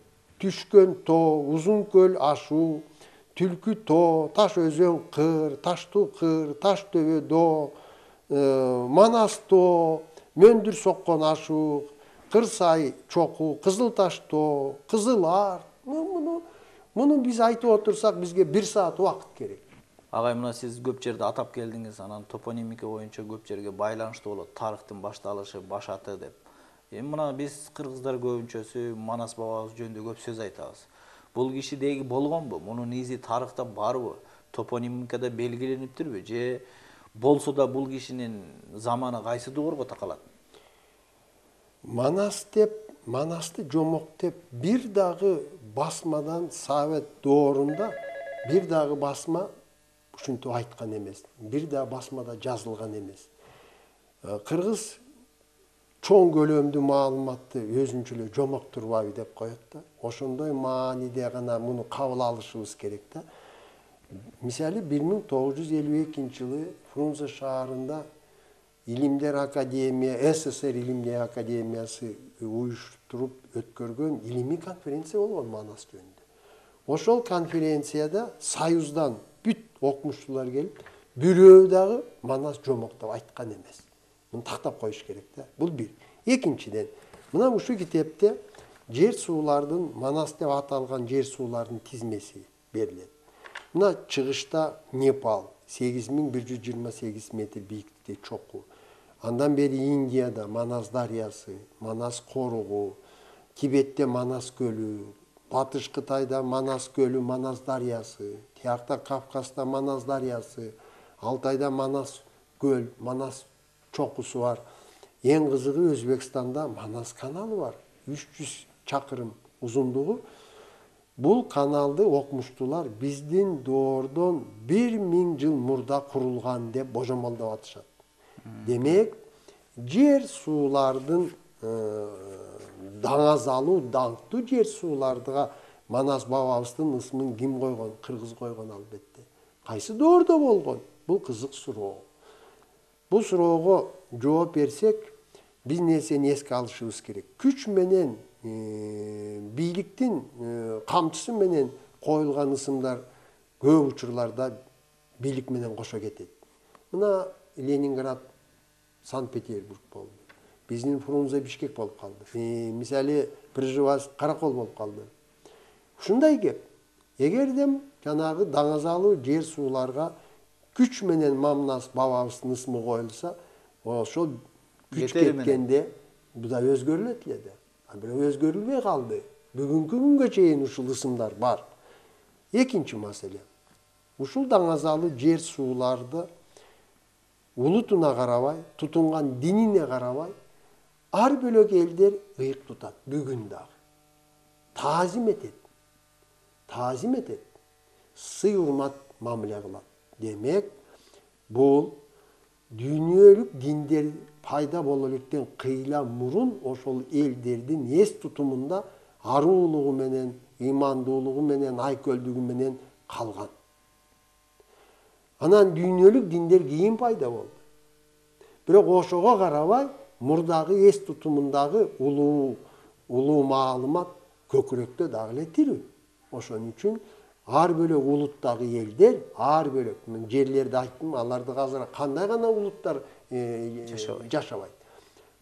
B: түшкөн тоо, Узун көл ашуу, Түлкү тоо, Таш өзөн кыр, Таштуу кыр, Таш дөбө доо, Манас тоо, Мөндүр соккон ашуу, Кырсай чокуу, Кызыл Таш тоо, Кызыл ар. Муну муну биз айтып отурсак, бизге бир саат убакыт керек.
A: Агай, мына сиз көп жерде атап келдиңиз, анан топонимика боюнча көп жерге байланыштуу болот. Тарыхтын башталышы, башаты деп. Эми мына биз кыргыздар көбүнчөсү Манас бабабыз жөнүндө көп сөз айтабыз. Бул киши деги болгонбу? Мунун изи тарыхта барбы? Топонимикада белгилениптирби? Же болсо да бул кишинин заманы кайсы дуурга такалат?
B: Манас деп, Манасты жомок деп бир дагы басмадан Совет доорунда бир дагы басма ушинтип айткан эмес. Бир дагы басмада жазылган эмес. Кыргыз чоң көлөмдүү маалыматты өзүнчө эле жомок турбайбы деп коет да. Ошондой мааниде гана муну кабыл алышыбыз керек да. Мисалы бир миң тогуз жүз элүү экинчи жылы Фрунзе шаарында Илимдер академия, СССР Илимдер академиясы уюштуруп өткөргөн илимий конференция болгон Манас жөнүндө. Ошол конференцияда Союздан бүт окумуштуулар келип, бирөө дагы Манас жомок деп айткан эмес. Муну тактап коюш керек да. Бул бир. Экинчиден, мына ушу китепте жер суулардын, Манас деп аталган жер суулардын тизмеси берилет. Мына чыгышта Непал сегиз миң бир жүз жыйырма сегиз метр бийиктикте чокуу. Андан бери Индияда Манас дарыясы, Манас коругу, Тибетте Манас көлү, Батыш Кытайда Манас көлү, Манас дарыясы, тиякта Кавказда Манас дарыясы, Алтайда Манас көл, Манас чокусу бар. Эң кызыгы Өзбекстанда Манас каналы бар. үч жүз чакырым узундугу. Бул каналды окумуштуулар биздин доордон бир миң жыл мурда курулган деп божомолдоп атышат. Демек, жер суулардын даңазалуу, даңктуу жер суулардыга Манас бабабыздын ысмын ким койгон? Кыргыз койгон албетте. Кайсы доордо болгон? Бул кызык суроо. Бул суроого жооп берсек, биз нерсени эске алышыбыз керек. Күч менен бийликтин камчысы менен коюлган ысымдар көп учурларда бийлик менен кошо кетет. Мына Ленинград, Санкт-Петербург болду. Биздин Фрунзе Бишкек болуп калды. Мисалы Пржевальск Каракол болуп калды. Ушундай кеп. Эгерде жанагы даңазалуу жер сууларга күч менен Манас бабабыздын ысмы коюлса, ошол күч кеткенде бу да өзгөрүлөт эле да. А бирок өзгөрүлбөй калды. Бүгүнкү күнгө чейин ушул ысымдар бар. Экинчи маселе. Ушул даңазалуу жер сууларды улутуна карабай, тутунган динине карабай, ар бөлөк элдер ыйык тутат бүгүн дагы. Таазим этет. Таазим этет. Сый урмат мамиле кылат. Демек, бул дүйнөлүк диндер пайда боло электен кыйла мурун ошол элдердин эс тутумунда аруулугу менен, ыймандуулугу менен, айкөлдүгү менен калган. Анан дүйнөлүк диндер кийин пайда болду. Бирок ошого карабай, мурдагы эс тутумундагы улуу улуу маалымат көкүрөктө дагы эле тирүү. Ошон үчүн ар бөлөк улуттагы элдер, ар бөлөк, мен жерлерди айттым, аларды азыр кандай гана улуттар жашабайт.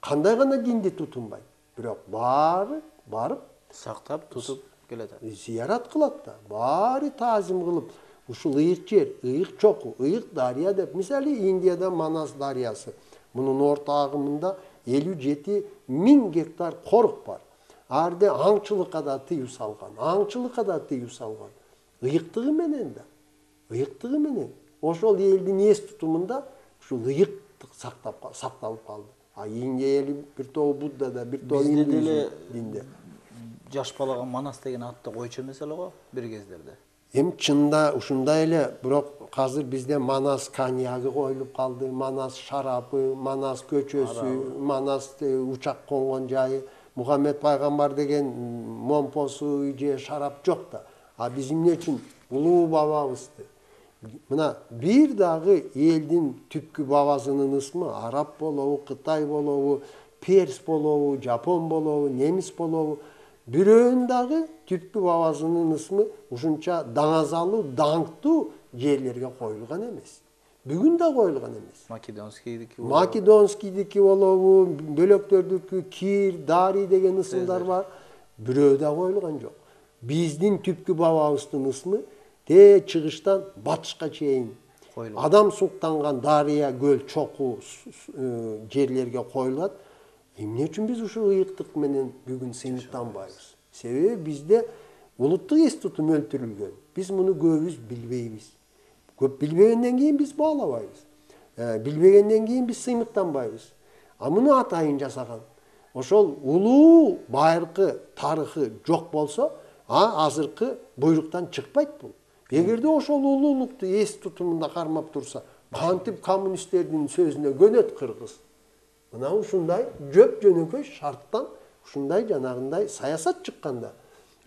B: Кандай гана динди тутунбайт. Бирок баары барып
A: сактап, тутуп келет.
B: Зиярат кылат да, баары таазим кылып, ушул ыйык жер, ыйык чоку, ыйык дарыя деп, мисалы Индияда Манас дарыясы. Мунун орто агымында элүү жети миң гектар корук бар. Арде аңчылыкка да тыюу салган, аңчылыкка да тыюу салган. Ыйыктыгы менен да, ыйыктыгы менен. Ошол элдин эс тутумунда ушул ыйыктык сактап сакталып калды. А Индия эли бир тобу Буддада, бир тобу индуизм динде.
A: Жаш балага Манас деген атты койчу эмес эле го бир кездерде.
B: Эми чында ушундай эле, бирок азыр бизде Манас коньягы коюлуп калды, Манас шарапы, Манас көчөсү, Манас учак конгон жайы, Мухаммед пайгамбар деген момпосу же шарап жок да. А биз эмне үчүн улуу бабабызды, мына бир дагы элдин түпкү бабасынын ысмы араб болобу, Кытай болобу, перс болобу, жапон болобу, немис болобу, бирөөнүн дагы түпкү бабасынын ысмы ушунча даңазалуу, даңктуу жерлерге коюлган эмес. Бүгүн да коюлган эмес.
A: Македонскийдики
B: болобу. Македонскийдики болобу, бөлөктөрдүкү Кир, Дарий деген ысымдар бар. Бирөө да коюлган жок. Биздин түпкү бабабыздын ысмы те чыгыштан батышка чейин адам суктанган дарыя, көл, чоку жерлерге коюлат. Эмне үчүн биз ушул ыйыктык менен бүгүн сыймыктанбайбыз? Себеби бизде улуттук эс тутум өлтүрүлгөн. Биз муну көбүбүз билбейбиз. Көп билбегенден кийин биз баалабайбыз. Билбегенден кийин биз сыймыктанбайбыз. А муну атайын жасаган. Ошол улуу байыркы тарыхы жок болсо, а азыркы буйруктан чыкпайт бул. Эгерде ошол улуулукту эс тутумунда кармап турса, кантип коммунисттердин сөзүнө көнөт кыргыз? Мына ушундай жөп жөнөкөй шарттан ушундай жанагындай саясат чыкканда,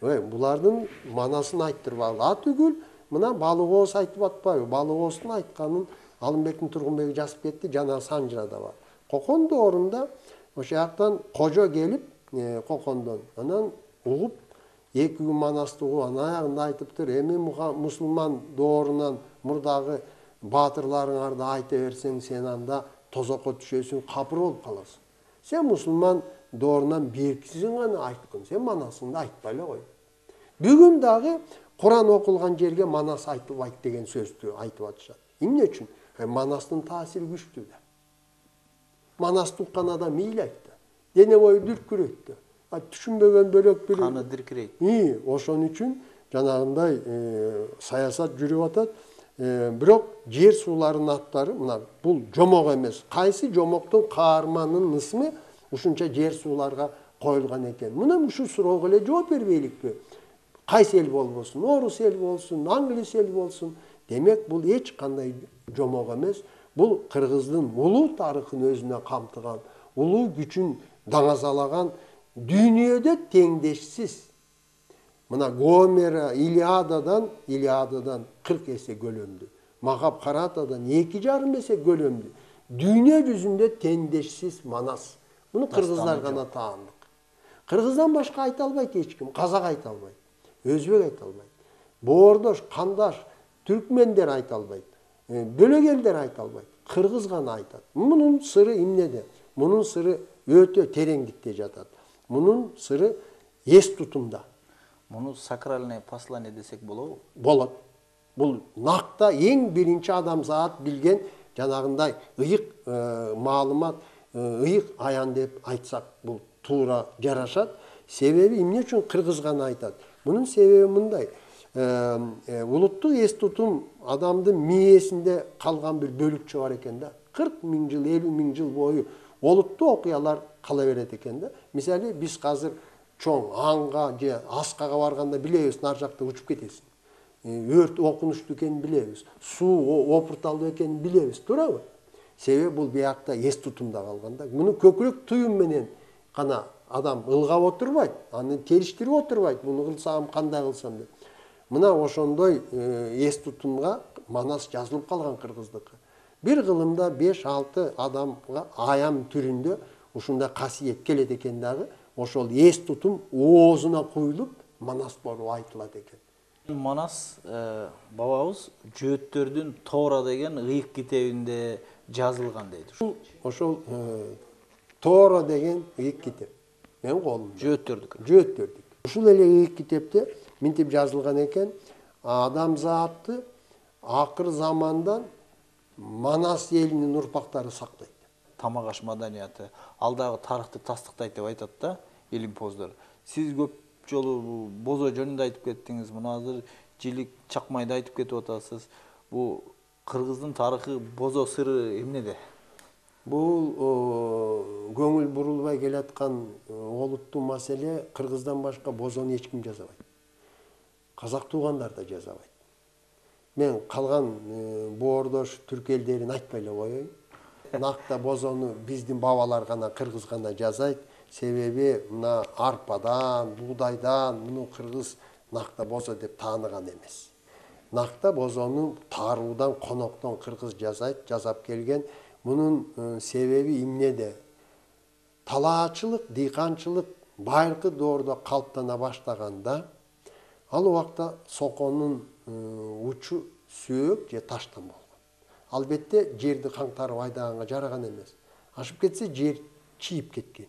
B: ой, булардын манасын айттырбагыла. А түгүл, мына Балык ооз айтып атпайбы? Балык ооздун айтканын Алымбектин Тургунбеги жазып кетти, жана Санжырада бар. Кокон доорунда ошол жактан кожо келип, Кокондон, анан угуп, эки күн манасты угуп, анан аягында айтыптыр, эми мусулман доорунан мурдагы баатырларыңарды айта берсең, сен анда тозокко түшөсүң, капыр болуп каласың. Сен мусулман доорунан беркисиң гана айткын, сен манасыңды айтпай эле кой. Бүгүн дагы Куран окулган жерге Манас айтылбайт деген сөздү айтып атышат. Эмне үчүн? Манастын таасири күчтүү да. Манасты уккан адам ыйлайт да. Дене бою дүркүрөйт да. А түшүнбөгөн бөлөк бир
A: каны диркирейт.
B: И, ошон үчүн жанагындай саясат жүрүп атат. Бирок жер сууларынын аттары, мына бул жомок эмес. Кайсы жомоктун каарманынын ысмы ушунча жер сууларга коюлган экен? Мына ушул суроого эле жооп бербейликпи? Кайсы эл болбосун, орус эл болсун, англис эл болсун. Демек, бул эч кандай жомок эмес. Бул кыргыздын улуу тарыхын өзүнө камтыган, улуу күчүн даңазалаган, дүйнөдө теңдешсиз. Мына Гомера Илиададан, Илиададан кырк эсе көлөмдүү. Махабхаратадан эки жарым эсе көлөмдүү. Дүйнө жүзүндө теңдешсиз Манас. Муну кыргыздар гана таандык. Кыргыздан башка айта албайт эч ким, казак айта албайт. Өзбек айта албайт. Боордош, кандаш, түркмендер айта албайт. Бөлөк элдер айта албайт. Кыргыз гана айтат. Мунун сыры эмнеде? Мунун сыры өтө тереңдикте жатат. Мунун сыры эс тутумда.
A: Муну сакральное послание десек болобу?
B: Болот. Бул накта эң биринчи адамзат билген жанагындай ыйык маалымат, ыйык аян деп айтсак, бул туура жарашат. Себеби эмне үчүн кыргыз гана айтат? Мунун себеби мындай. Улуттук эс тутум адамдын мээсинде калган бир бөлүкчө бар экен да. кырк миң жыл, элүү миң жыл бою олуттуу окуялар кала берет экен да. Мисалы биз азыр чоң аңга же аскага барганда билебиз, нар жакта учуп кетесиң. Өрт окунучтуу экенин билебиз. Суу опурталдуу экенин билебиз, туурабы? Себеби бул биякта эс тутумда калган да. Муну көкүрөк туюм менен гана адам ылгап отурбайт, аны териштирип отурбайт. Муну кылсам, кандай кылсам деп. Мына ошондой эс тутумга манас жазылып калган кыргыздыкы. Бир кылымда беш алты адамга аян түрүндө ушундай касиет келет экен дагы, ошол эс тутум оозуна куюлуп манас болуп айтылат экен.
A: Манас бабабыз жөөттөрдүн Тора деген ыйык китебинде жазылган дейт.
B: Ошол Тора деген ыйык китеп. Мен колумда.
A: Жөөттөрдүк.
B: Жөөттөрдүк. Ушул эле ыйык китепте минтип жазылган экен, адамзатты акыр замандан Манас элинин урпактары сактайт.
A: Тамак аш маданияты алдагы тарыхты тастыктайт деп айтат да илимпоздор. Сиз көп жолу бозо жөнүндө айтып кеттиңиз. Мына азыр жилик чакмайды айтып кетип атасыз. Бул кыргыздын тарыхы, бозо сыры эмнеде?
B: Бул көңүл бурулбай келаткан олуттуу маселе. Кыргыздан башка бозону эч ким жазабайт. Казак туугандар да жазабайт. Мен калган боордош түрк элдерин айтпай эле коеюн. Накта бозону биздин бабалар гана, кыргыз гана жазайт. Себеби мына арпадан, буудайдан муну кыргыз накта бозо деп тааныган эмес. Накта бозону таруудан, коноктон кыргыз жазайт, жасап келген. Мунун себеби эмнеде? Талаачылык, дыйканчылык байыркы доордо калыптана баштаганда, ал убакта соконун учу сөөк же таштан болгон. Албетте жерди каңтарып айдаганга жараган эмес. Ашып кетсе жер чийип кеткен.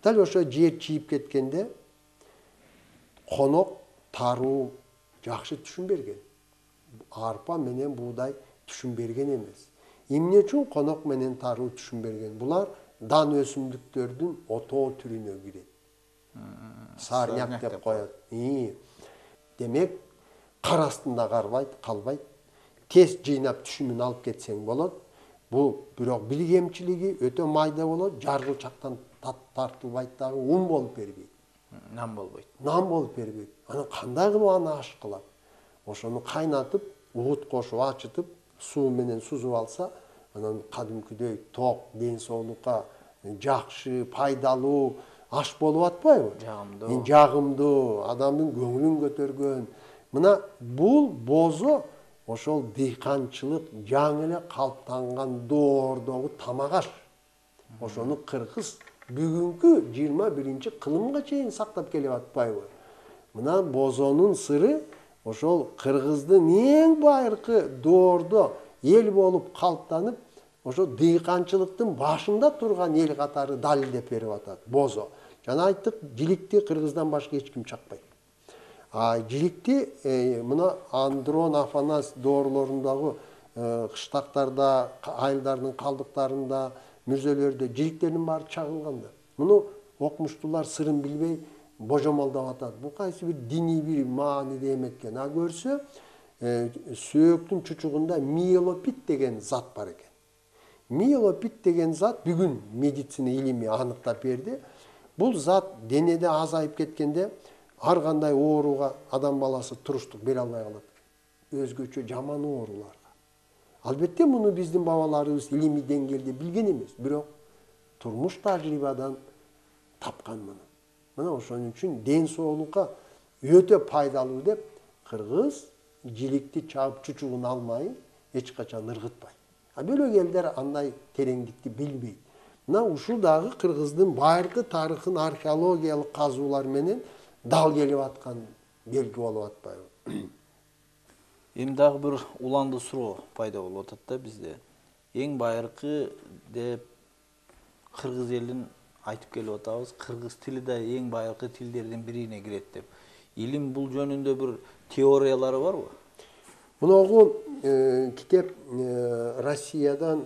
B: Дал ошо жер чийип кеткенде конок, таруу жакшы түшүн берген. Арпа менен буудай түшүн берген эмес. Эмне үчүн конок менен таруу түшүн берген? Булар дан өсүмдүктөрдүн отоо түрүнө кирет. Саарняк деп коет. Демек, кар астында калбайт. Тез жыйнап түшүмүн алып кетсең болот. Бул бирок билгемчилиги өтө майда болот, жаргылчактан тартылбайт дагы, ун болуп бербейт.
A: Нам болбойт.
B: Нам болуп бербейт. Анан кандай кылып аны аш кылат? Ошону кайнатып, уут кошуп ачытып, суу менен сузуп алса, анан кадимкидей ток, ден соолукка жакшы, пайдалуу аш болуп атпайбы?
A: Жагымдуу.
B: Жагымдуу, адамдын көңүлүн көтөргөн. Мына бул бозо ошол дыйканчылык жаңы эле калыптанган доордогу тамак аш. Ошону кыргыз бүгүнкү жыйырма биринчи кылымга чейин сактап келип атпайбы? Мына бозонун сыры ошол кыргыздын эң байыркы доордо эл болуп калыптанып, ошо дыйканчылыктын башында турган эл катары далилдеп берип атат бозо. Жана айттык, жиликти кыргыздан башка эч ким чакпайт. А жиликти мына Андрон Афанас доорлорундагы кыштактарда, айылдардын калдыктарында, мүрзөлөрдө жиликтердин баары чагылган да. Муну окумуштуулар сырын билбей божомолдоп атат. Бул кайсы бир диний бир мааниде эметкен. А көрсө, сөөктүн чучугунда миелопит деген зат бар экен. Миелопит деген зат бүгүн медицина илими аныктап берди. Бул зат денеде азайып кеткенде ар кандай ооруга адам баласы туруштук бере албай калат. Өзгөчө жаман ооруларга. Албетте муну биздин бабаларыбыз илимий деңгээлде билген эмес, бирок турмуш тажрыйбадан тапкан муну. Мына ошон үчүн ден соолукка өтө пайдалуу деп кыргыз жиликти чаап чучугун алмай эч качан ыргытпайт. А бөлөк элдер андай тереңдикти билбейт. Мына ушул дагы кыргыздын байыркы тарыхын археологиялык казуулар менен дал келип аткан белги болуп атпайбы?
A: Эми дагы бир уланды суроо пайда болуп атат да бизде. Эң байыркы деп кыргыз элин айтып келип атабыз. Кыргыз тили да эң байыркы тилдердин бирине кирет деп. Илим бул жөнүндө бир теориялары барбы?
B: Муногу китеп Россиядан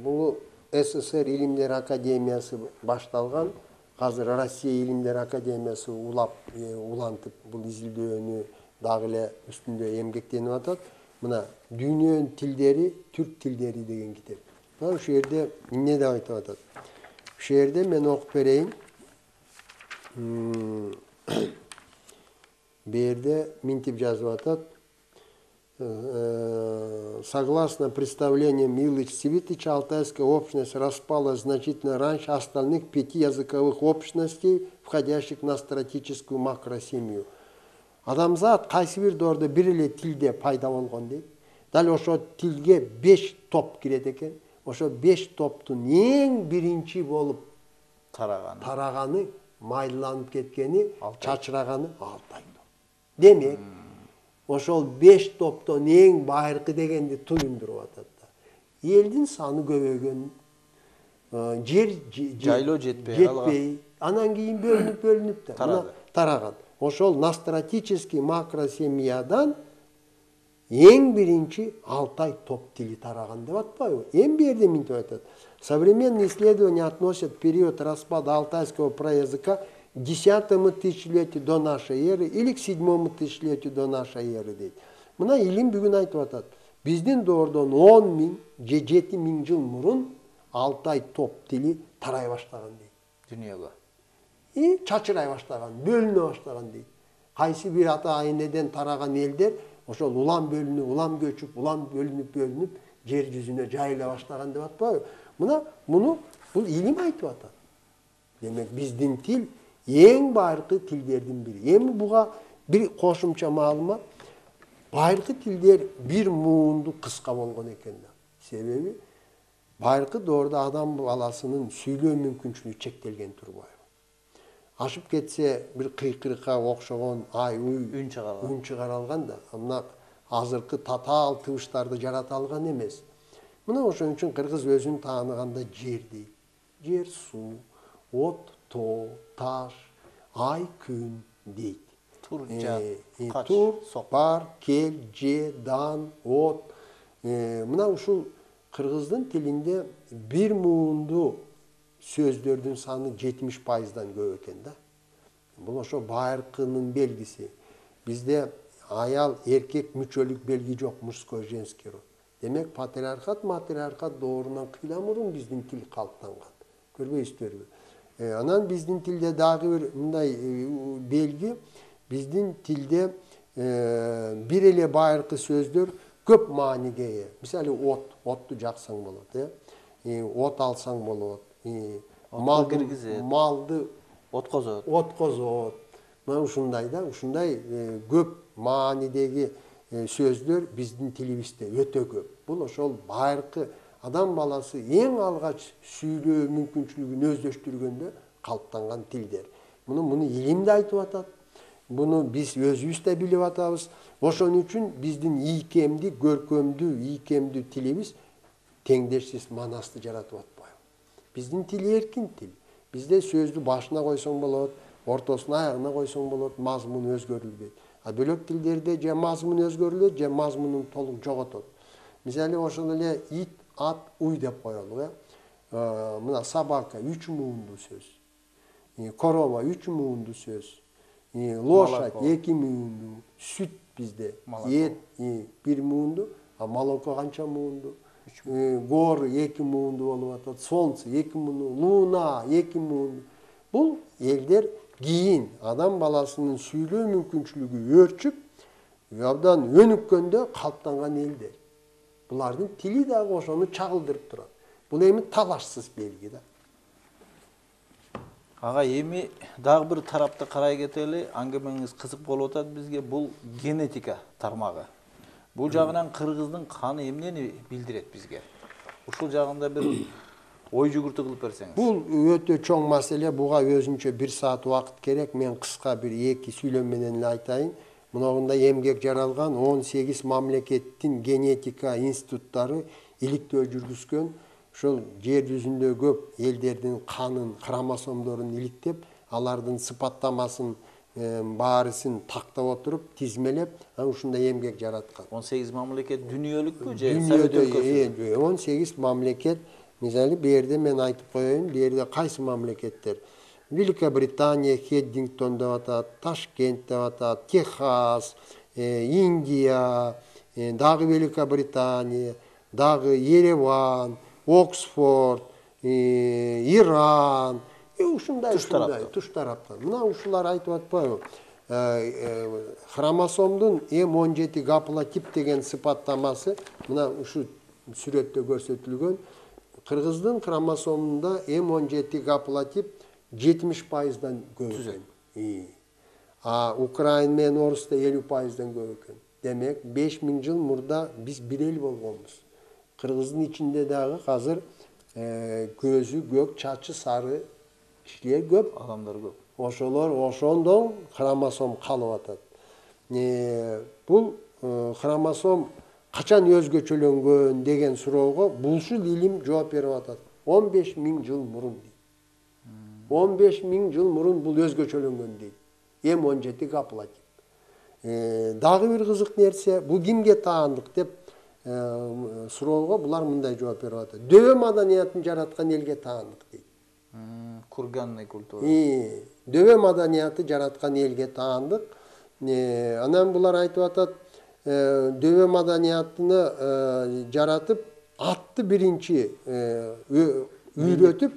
B: бул СССР Илимдер Академиясы башталган. Азыр Россия Илимдер Академиясы улап, улантып бул изилдөөнү дагы эле үстүндө эмгектенип атат. Мына Дүйнөнүн тилдери, түрк тилдери деген китеп. Ушул жерде эмне деп айтып атат? Ушул жерде мен окуп берейин. Бу жерде минтип жазып атат. Согласно представлениям Ильича Цвитича, алтайская общность распалась значительно раньше остальных пяти языковых общностей, входящих в настратическую макросемью. Адамзат кайсы бир доордо бир эле тилде пайда болгон дейт. Дал ошо тилге беш топ кирет экен. Ошо беш топтун эң биринчи болуп
A: тараганы
B: тараганы, майланып кеткени, чачыраганы Алтай топ. Демек, ошол беш топтон эң байыркы дегенди туюндуруп атат да. Элдин саны көбөйгөн, жер
A: жайлоо жетпей
B: жетпей, анан кийин бөлүнүп бөлүнүп да тараган. Ошол настратический макросемьядан эң биринчи Алтай топ тили тараган деп атпайбы? Эми бу жерде минтип айтат. Современные исследования относят период распада алтайского праязыка к десятому тысячелетию до нашей эры или к седьмому тысячелетию до нашей эры дейт. Мына илим бүгүн айтып атат. Биздин доордон он миң же жети миң жыл мурун Алтай топ тили тарай баштаган дейт.
A: Дүйнөгө.
B: И чачырай баштаган, бөлүнө баштаган дейт. Кайсы бир ата энеден тараган элдер ошол улам бөлүнүп, улам көчүп, улам бөлүнүп, бөлүнүп жер жүзүнө жайыла баштаган деп атпайбы? Мына муну бул илим айтып атат. Демек биздин тил эң байыркы тилдердин бири. Эми буга бир кошумча маалымат. Байыркы тилдер бир муунду кыска болгон экен да. Себеби байыркы доордо адам баласынын сүйлөө мүмкүнчүлүгү чектелген турбайбы? Ашып кетсе бир кыйкырыкка окшогон ай уй
A: үн чыгаралган.
B: Үн чыгаралган да. Мына азыркы татаал тыбыштарды жарата алган эмес. Мына ошон үчүн кыргыз өзүн тааныганда жер дейт. Жер, суу, от, тоо, таш, ай, күн дейт.
A: Тур, жат, кач,
B: тур,
A: сок.
B: бар, кел, же, дан, от. Мына ушул кыргыздын тилинде бир муунду сөздөрдүн саны жетимиш пайыздан көп экен да. Бул ошо байыркынын белгиси. Бизде аял эркек мүчөлүк белги жок, мужской, женский род. Демек патриархат, матриархат доорунан кыйла мурун биздин тил калыптанган. Көрбөйсүзбү? Анан биздин тилде дагы бир мындай белги, биздин тилде бир эле байыркы сөздөр көп мааниге ээ. Мисалы от, отту жаксаң болот, э? От алсаң болот. Малды киргизет. Малды
A: откозот.
B: Откозот. Мына ушундай да, ушундай көп маанидеги сөздөр биздин тилибизде өтө көп. Бул ошол байыркы адам баласы эң алгач сүйлөө мүмкүнчүлүгүн өздөштүргөндө калыптанган тилдер. Муну муну илим да айтып атат. Буну биз өзүбүз да билип атабыз. Ошон үчүн биздин ийкемдүү, көркөмдүү, ийкемдүү тилибиз теңдешсиз манасты жаратып атпайбы? Биздин тил эркин тил. Бизде сөздү башына койсоң болот, ортосуна, аягына койсоң болот, мазмун өзгөрүлбөйт. А бөлөк тилдерде же мазмун өзгөрүлөт, же мазмунун толук жоготот. Мисалы ошол эле ит, ат, уй деп коелу, э? Мына собака үч муунду сөз. Корова үч муунду сөз. Лошадь эки муунду. Сүт бизде эт бир муунду, а молоко канча муунду? Горы эки муунду болуп атат, солнце эки муунду, луна эки муунду. Бул элдер кийин адам баласынын сүйлөө мүмкүнчүлүгү өрчүп, абдан өнүккөндө калыптанган элдер. Булардын тили дагы ошону чагылдырып турат. Бул эми талашсыз белги да.
A: Ага, эми дагы бир тарапты карай кетели. Аңгемеңиз кызык болуп атат бизге. Бул генетика тармагы. Бул жагынан кыргыздын каны эмнени билдирет бизге? Ушул жагында бир ой жүгүртүү кылып берсеңиз.
B: Бул өтө чоң маселе. Буга өзүнчө бир саат убакыт керек. Мен кыска бир эки сүйлөм менен эле айтайын. Мынагында эмгек жаралган он сегиз мамлекеттин генетика институттары иликтөө жүргүзгөн. Ошол жер жүзүндө көп элдердин канын, хромосомдорун иликтеп, алардын сыпаттамасын баарысын тактап отуруп, тизмелеп, анан ушундай эмгек жараткан.
A: он сегиз мамлекет дүнүйөлүкпү же
B: Совет өлкөсү? он сегиз мамлекет. Мисалы, бу жерде мен айтып коеюн, бу жерде кайсы мамлекеттер? Великобритания, Хеддингтон деп атат, Ташкент деп атат, Техас, Индия, дагы Великобритания, дагы Ереван, Оксфорд, Иран, ушундай
A: Туш тараптан.
B: туш тараптан. Мына ушулар айтып атпайбы? Хромосомдун эм он жети гаплотип деген сыпаттамасы мына ушу сүрөттө көрсөтүлгөн. Кыргыздын хромосомунда эм он жети гаплотип жетимиш пайыздан көп экен. А Украин менен Орусда элүү пайыздан көп экен. Демек, беш миң жыл мурда биз бир эл болгонбуз. Кыргыздын ичинде дагы азыр көзү көк, чачы сары кишилер көп,
A: адамдар көп.
B: Ошолор ошондон хромосом калып атат. Бул хромосом качан өзгөчөлөнгөн деген суроого булшул илим жооп берип атат. он беш миң жыл мурун дейт. он беш миң жыл мурун бул өзгөчөлөнгөн дейт. эм он жети гаплотип. Дагы бир кызык нерсе, бул кимге таандык деп суроого булар мындай жооп берип атат. Дөбө маданиятын жараткан элге таандык дейт.
A: Курганный культура.
B: Дөбө маданияты жараткан элге таандык. Анан булар айтып атат, дөбө маданиятыны жаратып, атты биринчи үйрөтүп,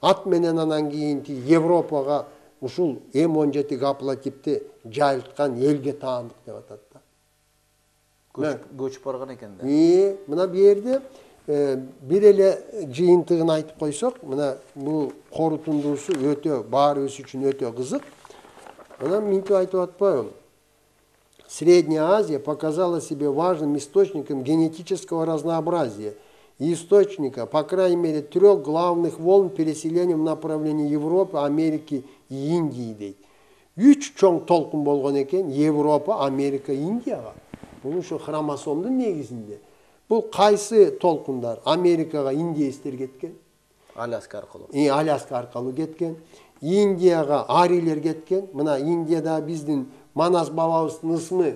B: ат менен анан кийинки Европага ушул эм он жети гаплотипти жайылткан элге таандык деп атат да.
A: Көчүп барган экен да.
B: Мына бу жерде бир эле жыйынтыгын айтып койсок, мына бул корутундуусу өтө баарыбыз үчүн өтө кызык. Анан минтип айтып атпайбы? Средняя Азия показала себе важным источником генетического разнообразия и источника, по крайней мере, трех главных волн переселения в направлении Европы, Америки и Индии дейт. Үч чоң толкун болгон экен Европа, Америка, Индияга. Бул ушу хромосомдун негизинде. Бул кайсы толкундар? Америкага индеецтер кеткен.
A: Аляска аркылуу.
B: И Аляска аркылуу кеткен. Индияга арилер кеткен. Мына Индияда биздин Манас бабабыздын ысмы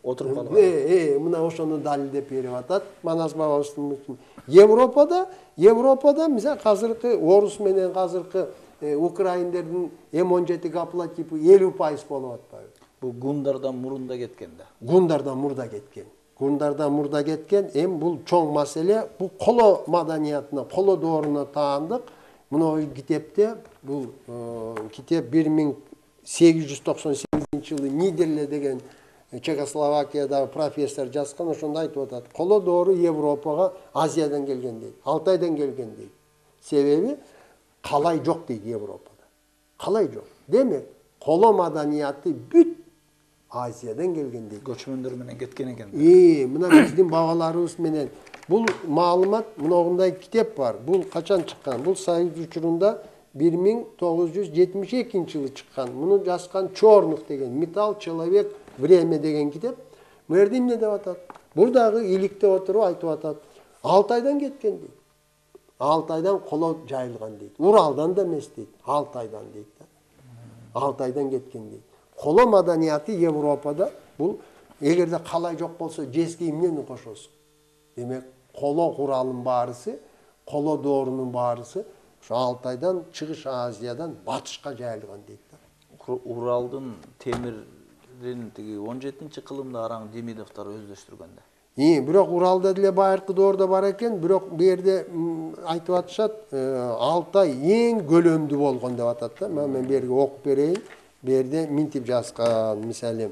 A: отуруп калган.
B: Э, э, мына ошону далилдеп берип атат. Манас бабабыздын ысмы. Европада, Европада мисалы азыркы орус менен азыркы украиндердин эм он жети гаплотипи элүү пайыз болуп атпайбы?
A: Бул гундардан мурунда кеткен да.
B: Гундардан мурда кеткен. Гундардан мурда кеткен. Эми бул чоң маселе. Бул коло маданиятына, коло дооруна таандык. Мына китепте бул китеп бир миң сегиз жүз токсон сегизинчи жылы Нидерле деген Чехословакиядагы профессор жазган, ошондо айтып атат. Коло доору Европага Азиядан келген дейт, Алтайдан келген дейт. Себеби калай жок дейт Европада. Калай жок. Демек, коло маданияты бүт Азиядан келген дейт.
A: Көчмөндөр менен кеткен экен.
B: Э, мына биздин бабаларыбыз менен бул маалымат, мындай китеп бар. Бул качан чыккан? Бул Союз учурунда бир миң тогуз жүз жетимиш экинчи жылы чыккан. Муну жазган Чорнух деген Металл, человек, время деген китеп. Бу жерде эмне деп атат? Бул дагы иликте отуруп айтып атат. Алтайдан кеткен дейт. Алтайдан коло жайылган дейт. Уралдан да эмес дейт. Алтайдан дейт да. Алтайдан кеткен дейт. Коло маданияты Европада бул эгерде калай жок болсо жеске эмнени кошосуң? Демек, коло куралын баарысы, коло доорунун баарысы ошо Алтайдан, Чыгыш Азиядан батышка жайылган дейт да.
A: Уралдын темирин тиги он жетинчи кылымда Араң Демидовдор өздөштүргөн да.
B: И, бирок Уралда деле байыркы доордо бар экен, бирок бу жерде айтып атышат, Алтай эң көлөмдүү болгон деп атат да. Мен бу жерге окуп берейин. Бу жерде минтип жазган, мисалы.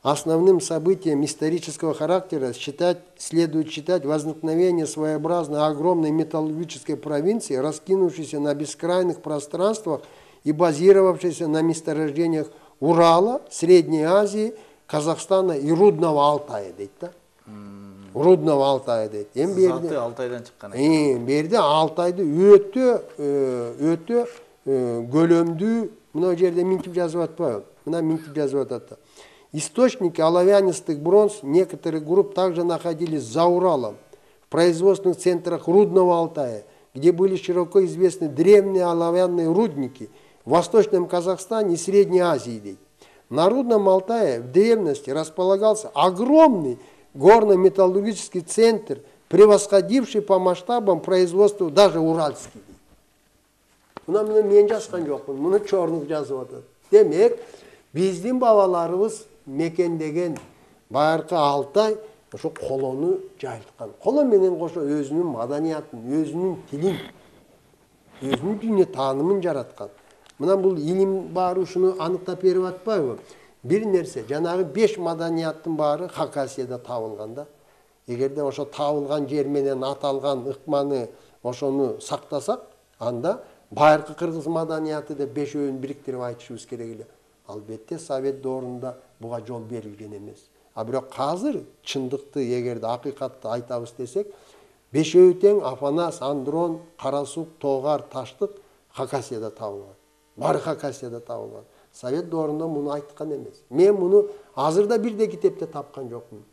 B: Основным событием исторического характера считать, следует считать возникновение своеобразной огромной металлургической провинции, раскинувшейся на бескрайных пространствах и базировавшейся на месторождениях Урала, Средней Азии, Казахстана и Рудного Алтая дейт да. Рудного Алтая дейт. Эми бу
A: жерде Алтайдан чыккан экен.
B: Бу жерде Алтайды өтө өтө көлөмдүү, мына жерде минтип жазып атпайбы? Мына минтип жазып атат. Источники оловянистых бронз некоторых групп также находились за Уралом, в производственных центрах Рудного Алтая, где были широко известны древние оловянные рудники в Восточном Казахстане и Средней Азии. На Рудном Алтае в древности располагался огромный горно-металлургический центр, превосходивший по масштабам производства даже уральский. Мына мен жазган жокмун, муну Чорнух жазып атат. Демек, биздин бабаларыбыз мекендеген байыркы Алтай ошо колону жайылткан. Коло менен кошо өзүнүн маданиятын, өзүнүн тилин, өзүнүн дүйнө таанымын жараткан. Мына бул илим баары ушуну аныктап берип атпайбы? Бир нерсе, жанагы беш маданияттын баары Хакасияда табылган да. Эгерде ошо табылган жер менен аталган ыкманы ошону сактасак, анда байыркы кыргыз маданияты деп бешөөүн бириктирип айтышыбыз керек эле. Албетте Совет доорунда буга жол берилген эмес. А бирок азыр чындыкты, эгерде акыйкатты айтабыз десек, бешөө тең Афанас, Андрон, Карасук, Тоогар, Таштык Хакасияда табылган. Баары Хакасияда табылган. Совет доорунда муну айткан эмес. Мен муну азырда бирде китепте тапкан жокмун.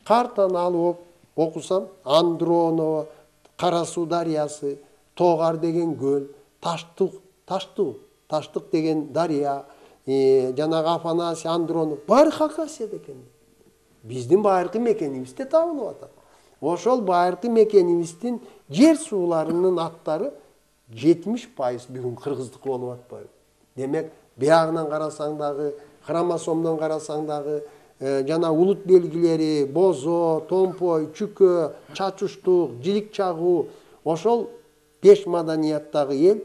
B: Картаны алып окусам, Андроново, Карасуу дарыясы, Тоогар деген көл, Таштык, Таштык, Таштык деген дарыя, жанагы Афанасий, Андронов баары Хакасияда экен. Биздин байыркы мекенибизде табылып атат. Ошол байыркы мекенибиздин жер сууларынын аттары жетимиш пайыз бүгүн кыргыздыкы болуп атпайбы? Демек, биягынан карасаң дагы, хромосомдон карасаң дагы, жана улут белгилери, бозо, томпой, чүкө, чачуштук, жилик чагуу, ошол беш маданияттагы эл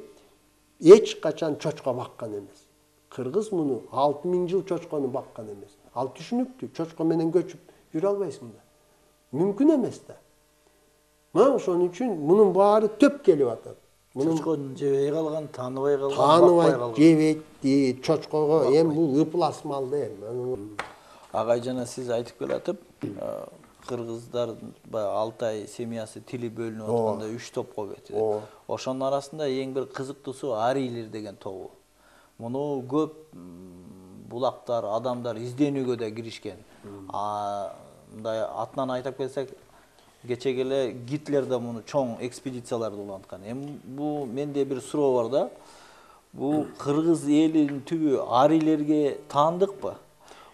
B: эч качан чочко баккан эмес. Кыргыз муну алты миң жыл чочкону баккан эмес. Ал түшүнүктүү, чочко менен көчүп жүрө албайсың да. Мүмкүн эмес да. Мына ошон үчүн мунун баары төп келип атат.
A: Чочконун жебей калган, тааныбай калган,
B: тааныбай
A: бакпай калган.
B: Жебейт, чочкого эми бул ыплас мал да эми.
A: Агай жана сиз айтып келатып, кыргыздар баягы Алтай семьясы тили бөлүнүп атканда үч топко кетти. Ошонун арасында эң бир кызыктуусу арийлер деген тобу. Муну көп булактар, адамдар изденүүгө да киришкен. Мындай атынан айтып келсек, кечеге эле Гитлер да муну чоң экспедицияларды уланткан. Эми бул менде бир суроо бар да. Бул кыргыз элинин түбү арийлерге таандыкпы?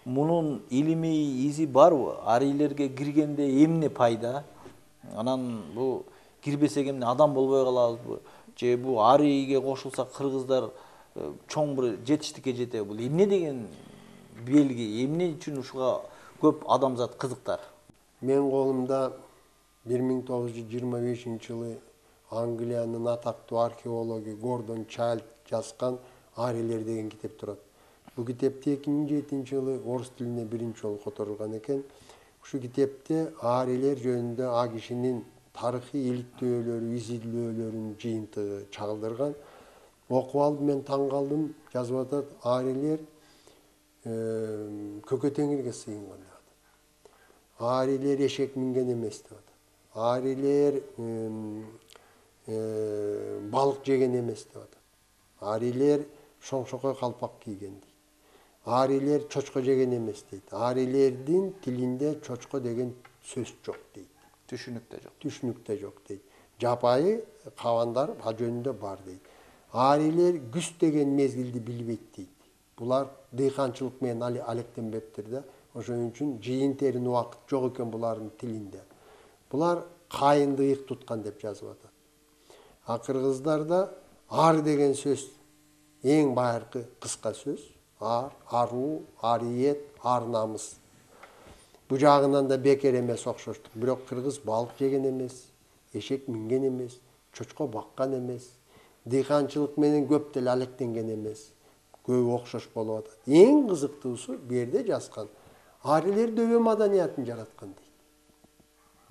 A: Мунун илимий изи барбы? Арийлерге киргенде эмне пайда? Анан бул кирбесек эмне адам болбой калабызбы? Же бул арийге кошулсак кыргыздар чоң бир жетиштикке жетеби? Бул эмне деген белги? Эмне үчүн ушуга көп адамзат кызыктар?
B: Мен колумда бир миң тогуз жүз жыйырма бешинчи жылы Англиянын атактуу археологу Гордон Чайлд жазган Арийлер деген китеп турат. Бул китепти эки миң жетинчи жылы орус тилине биринчи жолу которулган экен. Ушу китепте арийлер жөнүндө а кишинин тарыхый иликтөөлөрү, изилдөөлөрүнүн жыйынтыгы чагылдырган. Окуп алып мен таң калдым, жазып атат, арийлер көкө теңирге сыйынган деп атат. Арийлер эшек минген эмес деп атат. Арийлер балык жеген эмес деп атат. Арийлер шоңшокой калпак кийген дейт. Арийлер чочко жеген эмес дейт. Арийлердин тилинде чочко деген сөз жок дейт.
A: Түшүнүктө жок.
B: Түшүнүктө жок дейт. Жапайы кабандар а жөнүндө бар дейт. Арийлер күз деген мезгилди билбейт дейт. Булар дыйканчылык менен алектенбептир да. Ошон үчүн жыйын терин убакыт жок экен булардын тилинде. Булар кайынды ыйык туткан деп жазып атат. А кыргыздарда ар деген сөз эң байыркы кыска сөз. Ар, аруу, ариет, ар намыс. Бу жагынан да бекер эмес окшоштук. Бирок кыргыз балык жеген эмес, эшек минген эмес, чочко баккан эмес, дыйканчылык менен көп деле алектенген эмес. Көбү окшош болуп атат. Эң кызыктуусу бу жерде жазган. Арийлер дөбө маданиятын жараткан дейт.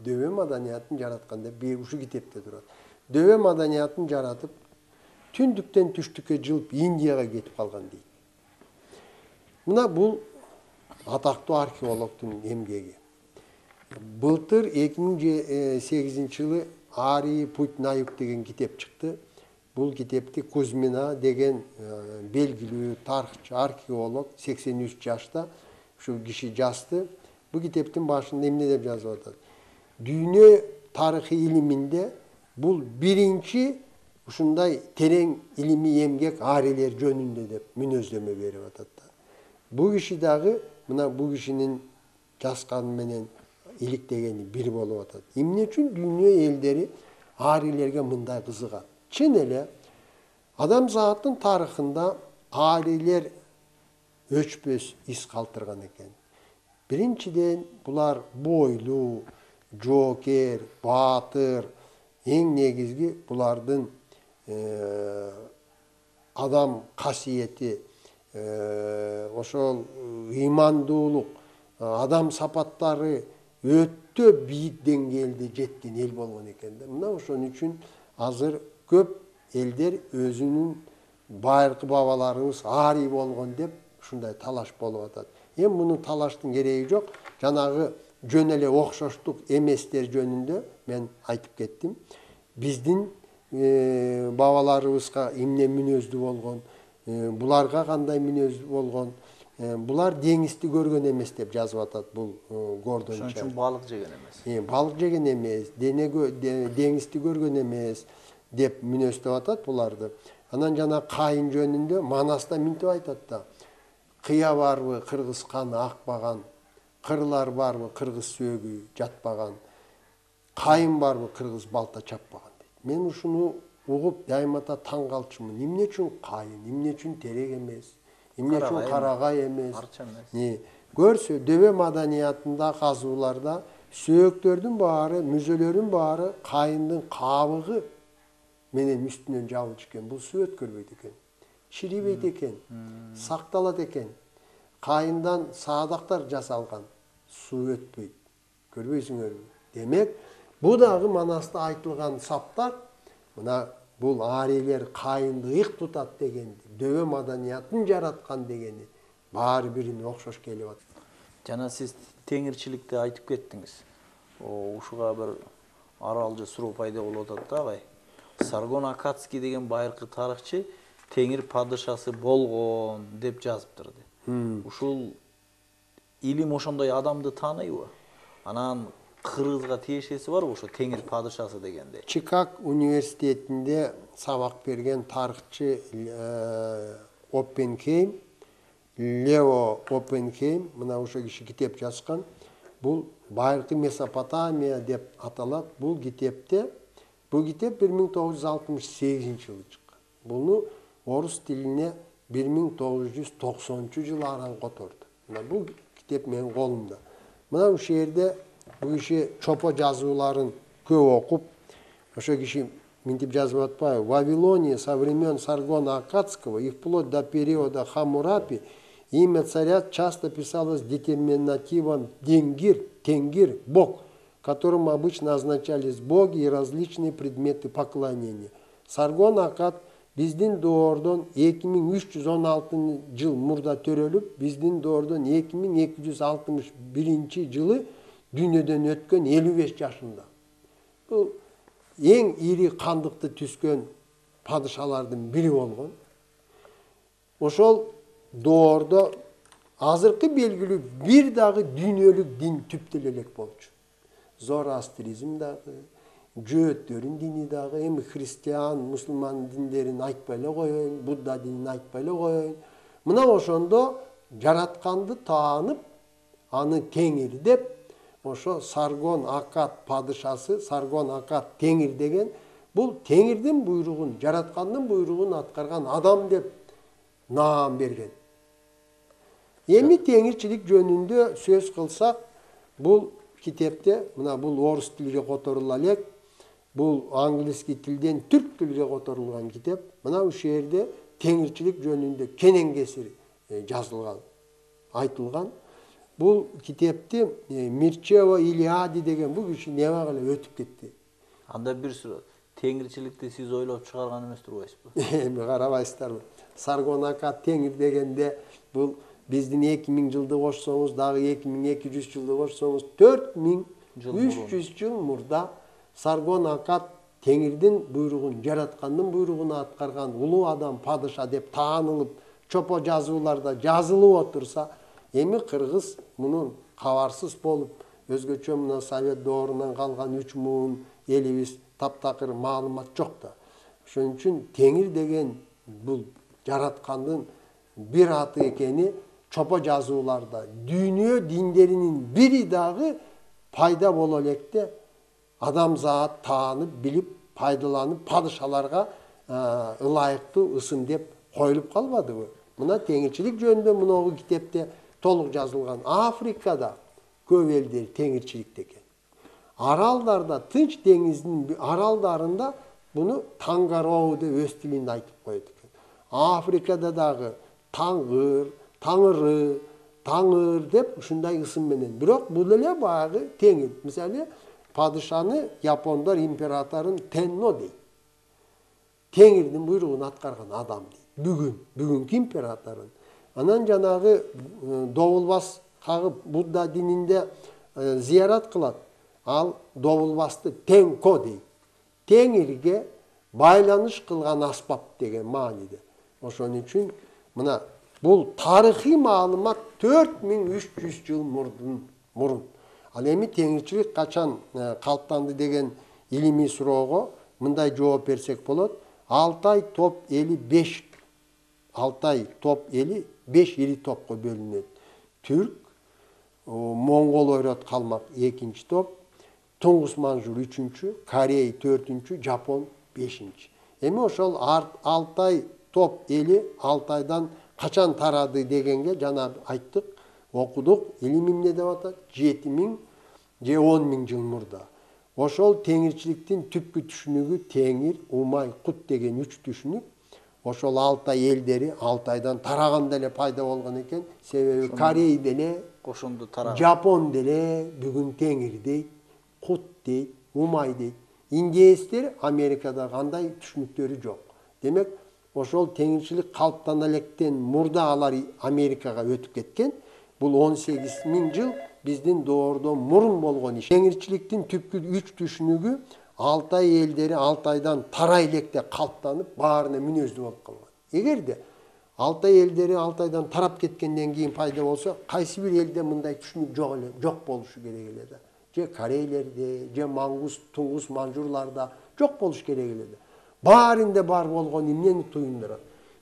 B: Дөбө маданиятын жараткан деп бир ушу китепте турат. Дөбө маданиятын жаратып, түндүктөн түштүккө жылып Индияга кетип калган дейт. Мына бул атактуу археологдун эмгеги. Былтыр эки миң сегизинчи жылы Арий путь на юг деген китеп чыкты. Бул китепти Кузьмина деген белгилүү тарыхчы археолог сексен үч жашта ушу киши жазды. Бул китептин башында эмне деп жазып атат? Дүйнө тарыхый илиминде бул биринчи ушундай терең илимий эмгек арийлер жөнүндө деп мүнөздөмө берип атат. Бул киши дагы мына бул кишинин жазганы менен иликтегени бир болуп атат. Эмне үчүн дүйнө элдери арийлерге мындай кызыгат? Чын эле адамзаттын тарыхында арийлер өчпөс из калтырган экен. Биринчиден булар бойлуу, жоокер, баатыр, эң негизги булардын адам касиети, ошол ыймандуулук, адам сапаттары өтө бийик деңгээлде жеткен эл болгон экен да. Мына ошон үчүн азыр көп элдер өзүнүн байыркы бабаларыбыз арий болгон деп ушундай талаш болуп атат. Эми мунун талаштын кереги жок. Жанагы жөн эле окшоштук эместер жөнүндө мен айтып кеттим. Биздин бабаларыбызга эмне мүнөздүү болгон, буларга кандай мүнөздүү болгон, булар деңизди көргөн эмес деп жазып атат бул Гордон Чай.
A: Ошон үчүн балык жеген эмес.
B: Балык жеген эмес, деңизди көргөн эмес деп мүнөздөп атат буларды. Анан жана Кайын жөнүндө Манаста мынтип айтат да. Кыя барбы кыргыз каны акпаган, кырлар барбы кыргыз сөөгү жатпаган, Кайын барбы кыргыз балта чаппаган дейт. Мен ушуну угуп дайымата таң калчумун. Эмне үчүн Кайын, эмне үчүн терек эмес, эмне үчүн карагай эмес? Не, көрсө дөбө маданиятында, казууларда сөөктөрдүн баары, мүзөлөрдүн баары Кайындын кабыгы менен үстүнөн жабылчу экен. Бул суу өткөрбөйт экен. Чирибейт экен. Сакталат экен. Кайындан саадактар жасалган. Суу өтпөйт. Көрбөйсүңөрбү? Демек, бу дагы Манаста айтылган саптар, мына бул арийлер Кайынды ыйык тутат дегенди, дөбө маданиятын жараткан дегени баары бирине окшош келип атат.
A: Жана сиз теңирчиликти айтып кеттиңиз. Ушуга бир аралжы суроо пайда болуп атат да, агай. Саргон Акацкий деген байыркы тарыхчы теңир падышасы болгон деп жазыптыр. Ушул илим ошондой адамды тааныйбы? Анан кыргызга тиешеси барбы ошо теңир падышасы дегенде?
B: Чикаго университетинде сабак берген тарыхчы Оппенхейм, Лео Оппенхейм, мына ошо киши китеп жазган. Бул байыркы Месопотамия деп аталат. Бул китепте Бул китеп бир миң тогуз жүз алтымыш сегизинчи жылы чыккан. Буну орус тилине бир миң тогуз жүз токсонунчу жылы аран которду. Мына бул китеп менин колумда. Мына ушул жерде бул киши чопо жазууларын көп окуп, ошо киши мынтип жазып атпайбы? В Вавилоне со времен Саргона Акадского и вплоть до периода Хаммурапи имя царя часто писалось детерминативом «денгир», «тенгир», «бог», которым обычно означались боги и различные предметы поклонения. Саргон Акад биздин доордон эки миң үч жүз он алтынчы жыл мурда төрөлүп, биздин доордон эки миң эки жүз алтымыш биринчи жылы дүйнөдөн өткөн элүү беш жашында. Бул эң ири кандыкты түскөн падышалардын бири болгон. Ошол доордо азыркы белгилүү бир дагы дүйнөлүк дин түптөлө элек болчу. Зороастризм дагы, жөөттөрүн дини дагы, эми христиан, мусулман диндерин айтпай эле коеюн, Будда динин айтпай эле коеюн. Мына ошондо жаратканды таанып, аны теңир деп, ошо Саргон Акад падышасы, Саргон Акад теңир деген, бул теңирдин буйругун, жараткандын буйругун аткарган адам деп наам берген. Эми теңирчилик жөнүндө сөз кылсак, бул китепте, мына бул орус тилге которула элек, бул англиский тилден түрк тилге которулган китеп. Мына ушул жерде теңирчилик жөнүндө кенен кесир жазылган, айтылган. Бул китепти Мирчево Илиади деген бул киши неме кылып өтүп кетти.
A: Анда бир суроо, теңирчиликти сиз ойлоп чыгарган эмес турбайсызбы?
B: Эми карабайсыздарбы? Саргон Акад теңир дегенде бул биздин эки миң жылды кошсоңуз, дагы эки миң эки жүз жылды кошсоңуз, төрт миң үч жүз жыл мурда Саргон Акад теңирдин буйругун, жараткандын буйругун аткарган улуу адам, падыша деп таанылып, чопо жазууларда жазылып отурса, эми кыргыз мунун кабарсыз болуп, өзгөчө мына Совет доорунан калган үч муун элибиз таптакыр маалымат жок да. Ошон үчүн теңир деген бул жараткандын бир аты экени чопо жазууларда, дүйнө диндеринин бири дагы пайда боло электе адамзат таанып, билип, пайдаланып, падышаларга ылайыктуу ысым деп коюлуп калбадыбы? Мына теңирчилик жөнүндө муногу китепте толук жазылган. Африкада, көп элдер теңирчиликте экен. Аралдарда, Тынч деңизинин аралдарында буну Тангароу деп өз тилинде айтып коет экен. Африкада дагы Таңыр, Таңыры, Таңыр деп ушундай ысым менен. Бирок бул эле баягы теңир. Мисалы, падышаны япондор императорун Тенно дейт. Теңирдин буйругун аткарган адам дейт. Бүгүн, бүгүнкү императорун. Анан жанагы Добулбас кагып Будда дининде зыярат кылат. Ал Добулбасты Тенко дейт. Теңирге байланыш кылган аспап деген мааниде. Ошон үчүн мына бул тарыхый маалымат төрт миң үч жүз жыл мурдун мурун. Ал эми теңирчилик качан калыптанды деген илимий суроого мындай жооп берсек болот. Алтай топ эли беш Алтай топ эли беш ири топко бөлүнөт. Түрк, Моңгол ойрот калмак экинчи топ, Туңгус Манжур үчүнчү, Корей төртүнчү, Жапон бешинчи. Эми ошол Алтай топ эли Алтайдан качан тарады дегенге жана айттык, окудук. Илим эмне деп атат? жети миң же он миң жыл мурда. Ошол теңирчиликтин түпкү түшүнүгү Теңир, Умай, Кут деген үч түшүнүк. Ошол Алтай элдери Алтайдан тараганда эле пайда болгон экен. Себеби Корей деле,
A: ошондо тараган.
B: Жапон деле бүгүн Теңир дейт, Кут дейт, Умай дейт. Индеецтер Америкада кандай түшүнүктөрү жок. Демек, ошол теңирчилик калыптана электен мурда алар Америкага өтүп кеткен. Бул он сегиз миң жыл биздин доордон мурун болгон иш. Теңирчиликтин түпкү үч түшүнүгү Алтай элдери Алтайдан тарай электе калыптанып, баарына мүнөздүү болуп калган. Эгерде Алтай элдери Алтайдан тарап кеткенден кийин пайда болсо, кайсы бир элде мындай түшүнүк жок эле, жок болушу керек эле да. Же Корейлерде, же Мангус, Туңгус Манжурларда жок болуш керек эле да. Баарында бар болгон эмнени туюндурат?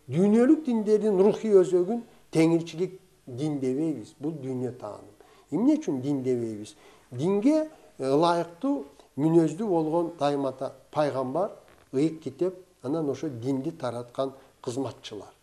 B: Дүйнөлүк диндердин рухий өзөгүн теңирчилик дин дебейбиз. Бул дүйнө тааным. Эмне үчүн дин дебейбиз? Динге ылайыктуу мүнөздүү болгон даймата пайгамбар, ыйык китеп, анан ошо динди тараткан кызматчылар.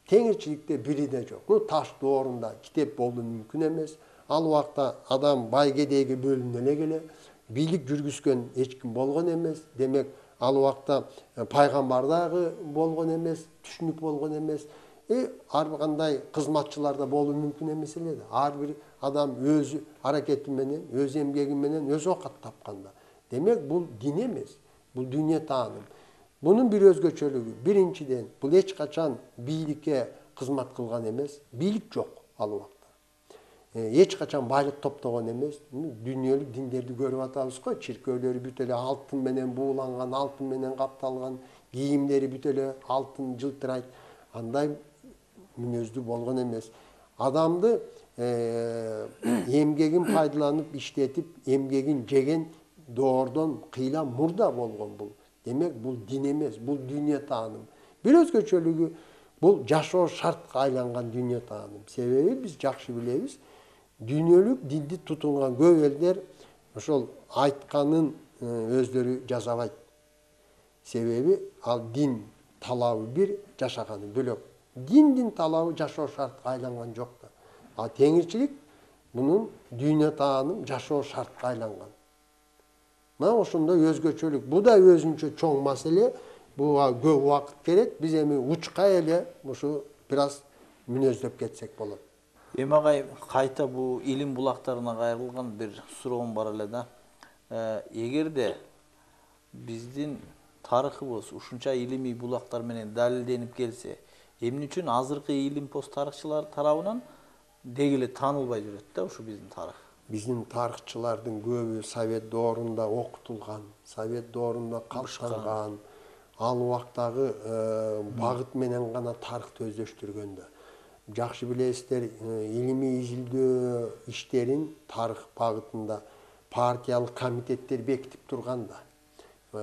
B: Теңирчиликте бири да жок. Ну, таш доорунда китеп болуу мүмкүн эмес. Ал убакта адам бай кедейге бөлүнө эле келе, бийлик жүргүзгөн эч ким болгон эмес. Демек, ал убакта пайгамбар дагы болгон эмес, түшүнүк болгон эмес. Э, ар кандай кызматчыларда болуу мүмкүн эмес эле да. Ар бир адам өз аракети менен, өз эмгеги менен өз оокат тапканда. Демек, бул дин эмес, бул дүйнө тааным. Бунун бир өзгөчөлүгү, биринчиден, бул эч качан бийликке кызмат кылган эмес, бийлик жок ал убакта. Эч качан байлык топтогон эмес. Дүйнөлүк диндерди көрүп атабыз го, чиркөөлөрү бүт эле алтын менен бууланган, алтын менен капталган, кийимдери бүт эле алтын жылтырайт. Андай мүнөздүү болгон эмес. Адамды эмгегин пайдаланып, иштетип, эмгегин жеген доордон кыйла мурда болгон бул. Демек, бул дин эмес, бул дүйнө тааным. Бир өзгөчөлүгү, бул жашоо шартка айланган дүйнө тааным. Себеби биз жакшы билебиз, дүйнөлүк динди тутунган көп элдер ошол айтканын өздөрү жасабайт. Себеби ал дин талабы бир, жашаганы бөлөк. Диндин талабы жашоо шартка айланган жок да. А теңирчилик мунун дүйнө тааным жашоо шартка айланган. Мына ошондой өзгөчөлүк. Бу да өзүнчө чоң маселе. Буга көп убакыт керек. Биз эми учка эле ушу бир аз мүнөздөп кетсек болот.
A: Эми агай, кайта бул илим булактарына кайрылган бир суроом бар эле да. Эгерде биздин тарыхыбыз ушунча илимий булактар менен далилденип келсе, эмне үчүн азыркы илим пост тарыхчылар тарабынан деги эле таанылбай жүрөт да ушу биздин тарых?
B: Биздин тарыхчылардын көбү Совет доорунда окутулган, Совет доорунда калыштанган, ал убактагы багыт менен гана тарыхты өздөштүргөн да. Жакшы билесиздер, илимий изилдөө иштерин тарых багытында партиялык комитеттер бекитип турган да.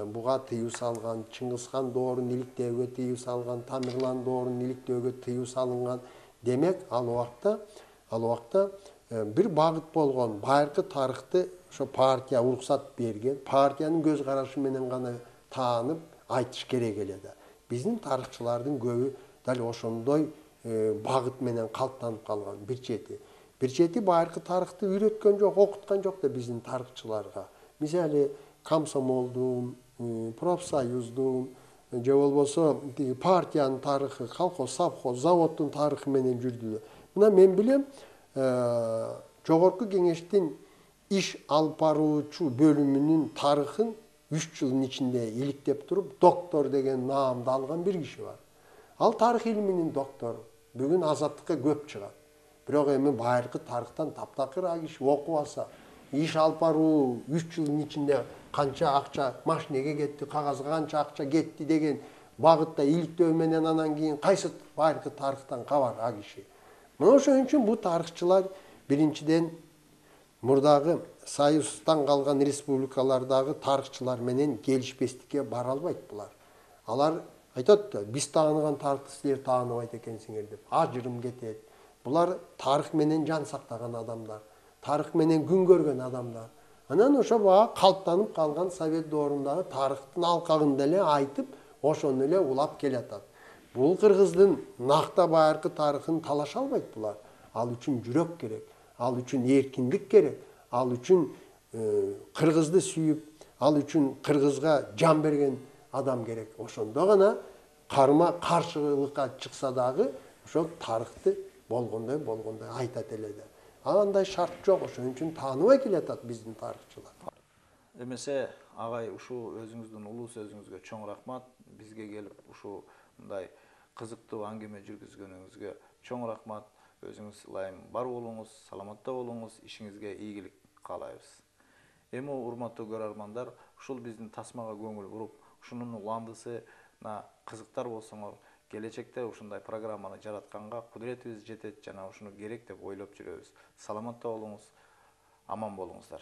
B: Буга тыюу салган, Чыңгызхан доорун иликтөөгө тыюу салган, Тамерлан доорун иликтөөгө тыюу салынган. Демек, ал убакта, ал убакта бир багыт болгон. Байыркы тарыхты ошо партия уруксат берген, партиянын көз карашы менен гана таанып айтыш керек эле да. Биздин тарыхчылардын көбү дал ошондой багыт менен калыптанып калган. Бир чети. Бир чети байыркы тарыхты үйрөткөн жок, окуткан жок да биздин тарыхчыларга. Мисалы комсомолдун, профсоюздун же болбосо партиянын тарыхы, колхоз, совхоз, заводдун тарыхы менен жүрдүлөр. Мына мен билем, жогорку кеңештин иш алып баруучу бөлүмүнүн тарыхын үч жылдын ичинде иликтеп туруп, доктор деген наамды алган бир киши бар. Ал тарых илиминин доктору. Бүгүн азаттыкка көп чыгат. Бирок эми байыркы тарыхтан таптакыр а киши окуп алса, иш алып баруу үч жылдын ичинде канча акча машинеге кетти, кагазга канча акча кетти деген багытта иликтөө менен анан кийин кайсы байыркы тарыхтан кабар а киши. Мына ошон үчүн бул тарыхчылар биринчиден мурдагы союздан калган республикалардагы тарыхчылар менен келишпестикке бара албайт булар. Алар айтат да, биз тааныган тарыхты силер тааныбайт экенсиңер деп ажырым кетет. Булар тарых менен жан сактаган адамдар, тарых менен күн көргөн адамдар. Анан ошо бага калыптанып калган совет доорундагы тарыхтын алкагында эле айтып, ошону эле улап келатат. Бул кыргыздын накта байыркы тарыхын талаша албайт булар. Ал үчүн жүрөк керек, ал үчүн эркиндик керек, ал үчүн кыргызды сүйүп, ал үчүн кыргызга жан берген адам керек. Ошондо гана карма каршылыкка чыкса дагы ошол тарыхты болгондой болгондой айтат эле да. Андай шарт жок, ошон үчүн тааныбай келатат биздин тарыхчылар.
A: Эмесе агай, ушул өзүңүздүн улуу сөзүңүзгө чоң рахмат. Бизге келип ушул мындай кызыктуу аңгеме жүргүзгөнүңүзгө чоң рахмат. Өзүңүз ылайым бар болуңуз, саламатта болуңуз, ишиңизге ийгилик каалайбыз. Эми урматтуу көрөрмандар, ушул биздин тасмага көңүл буруп, ушунун уландысына кызыктар болсоңор, келечекте ушундай программаны жаратканга кудуретибиз жетет жана ушуну керек деп ойлоп жүрөбүз. Саламатта болуңуз, аман болуңуздар.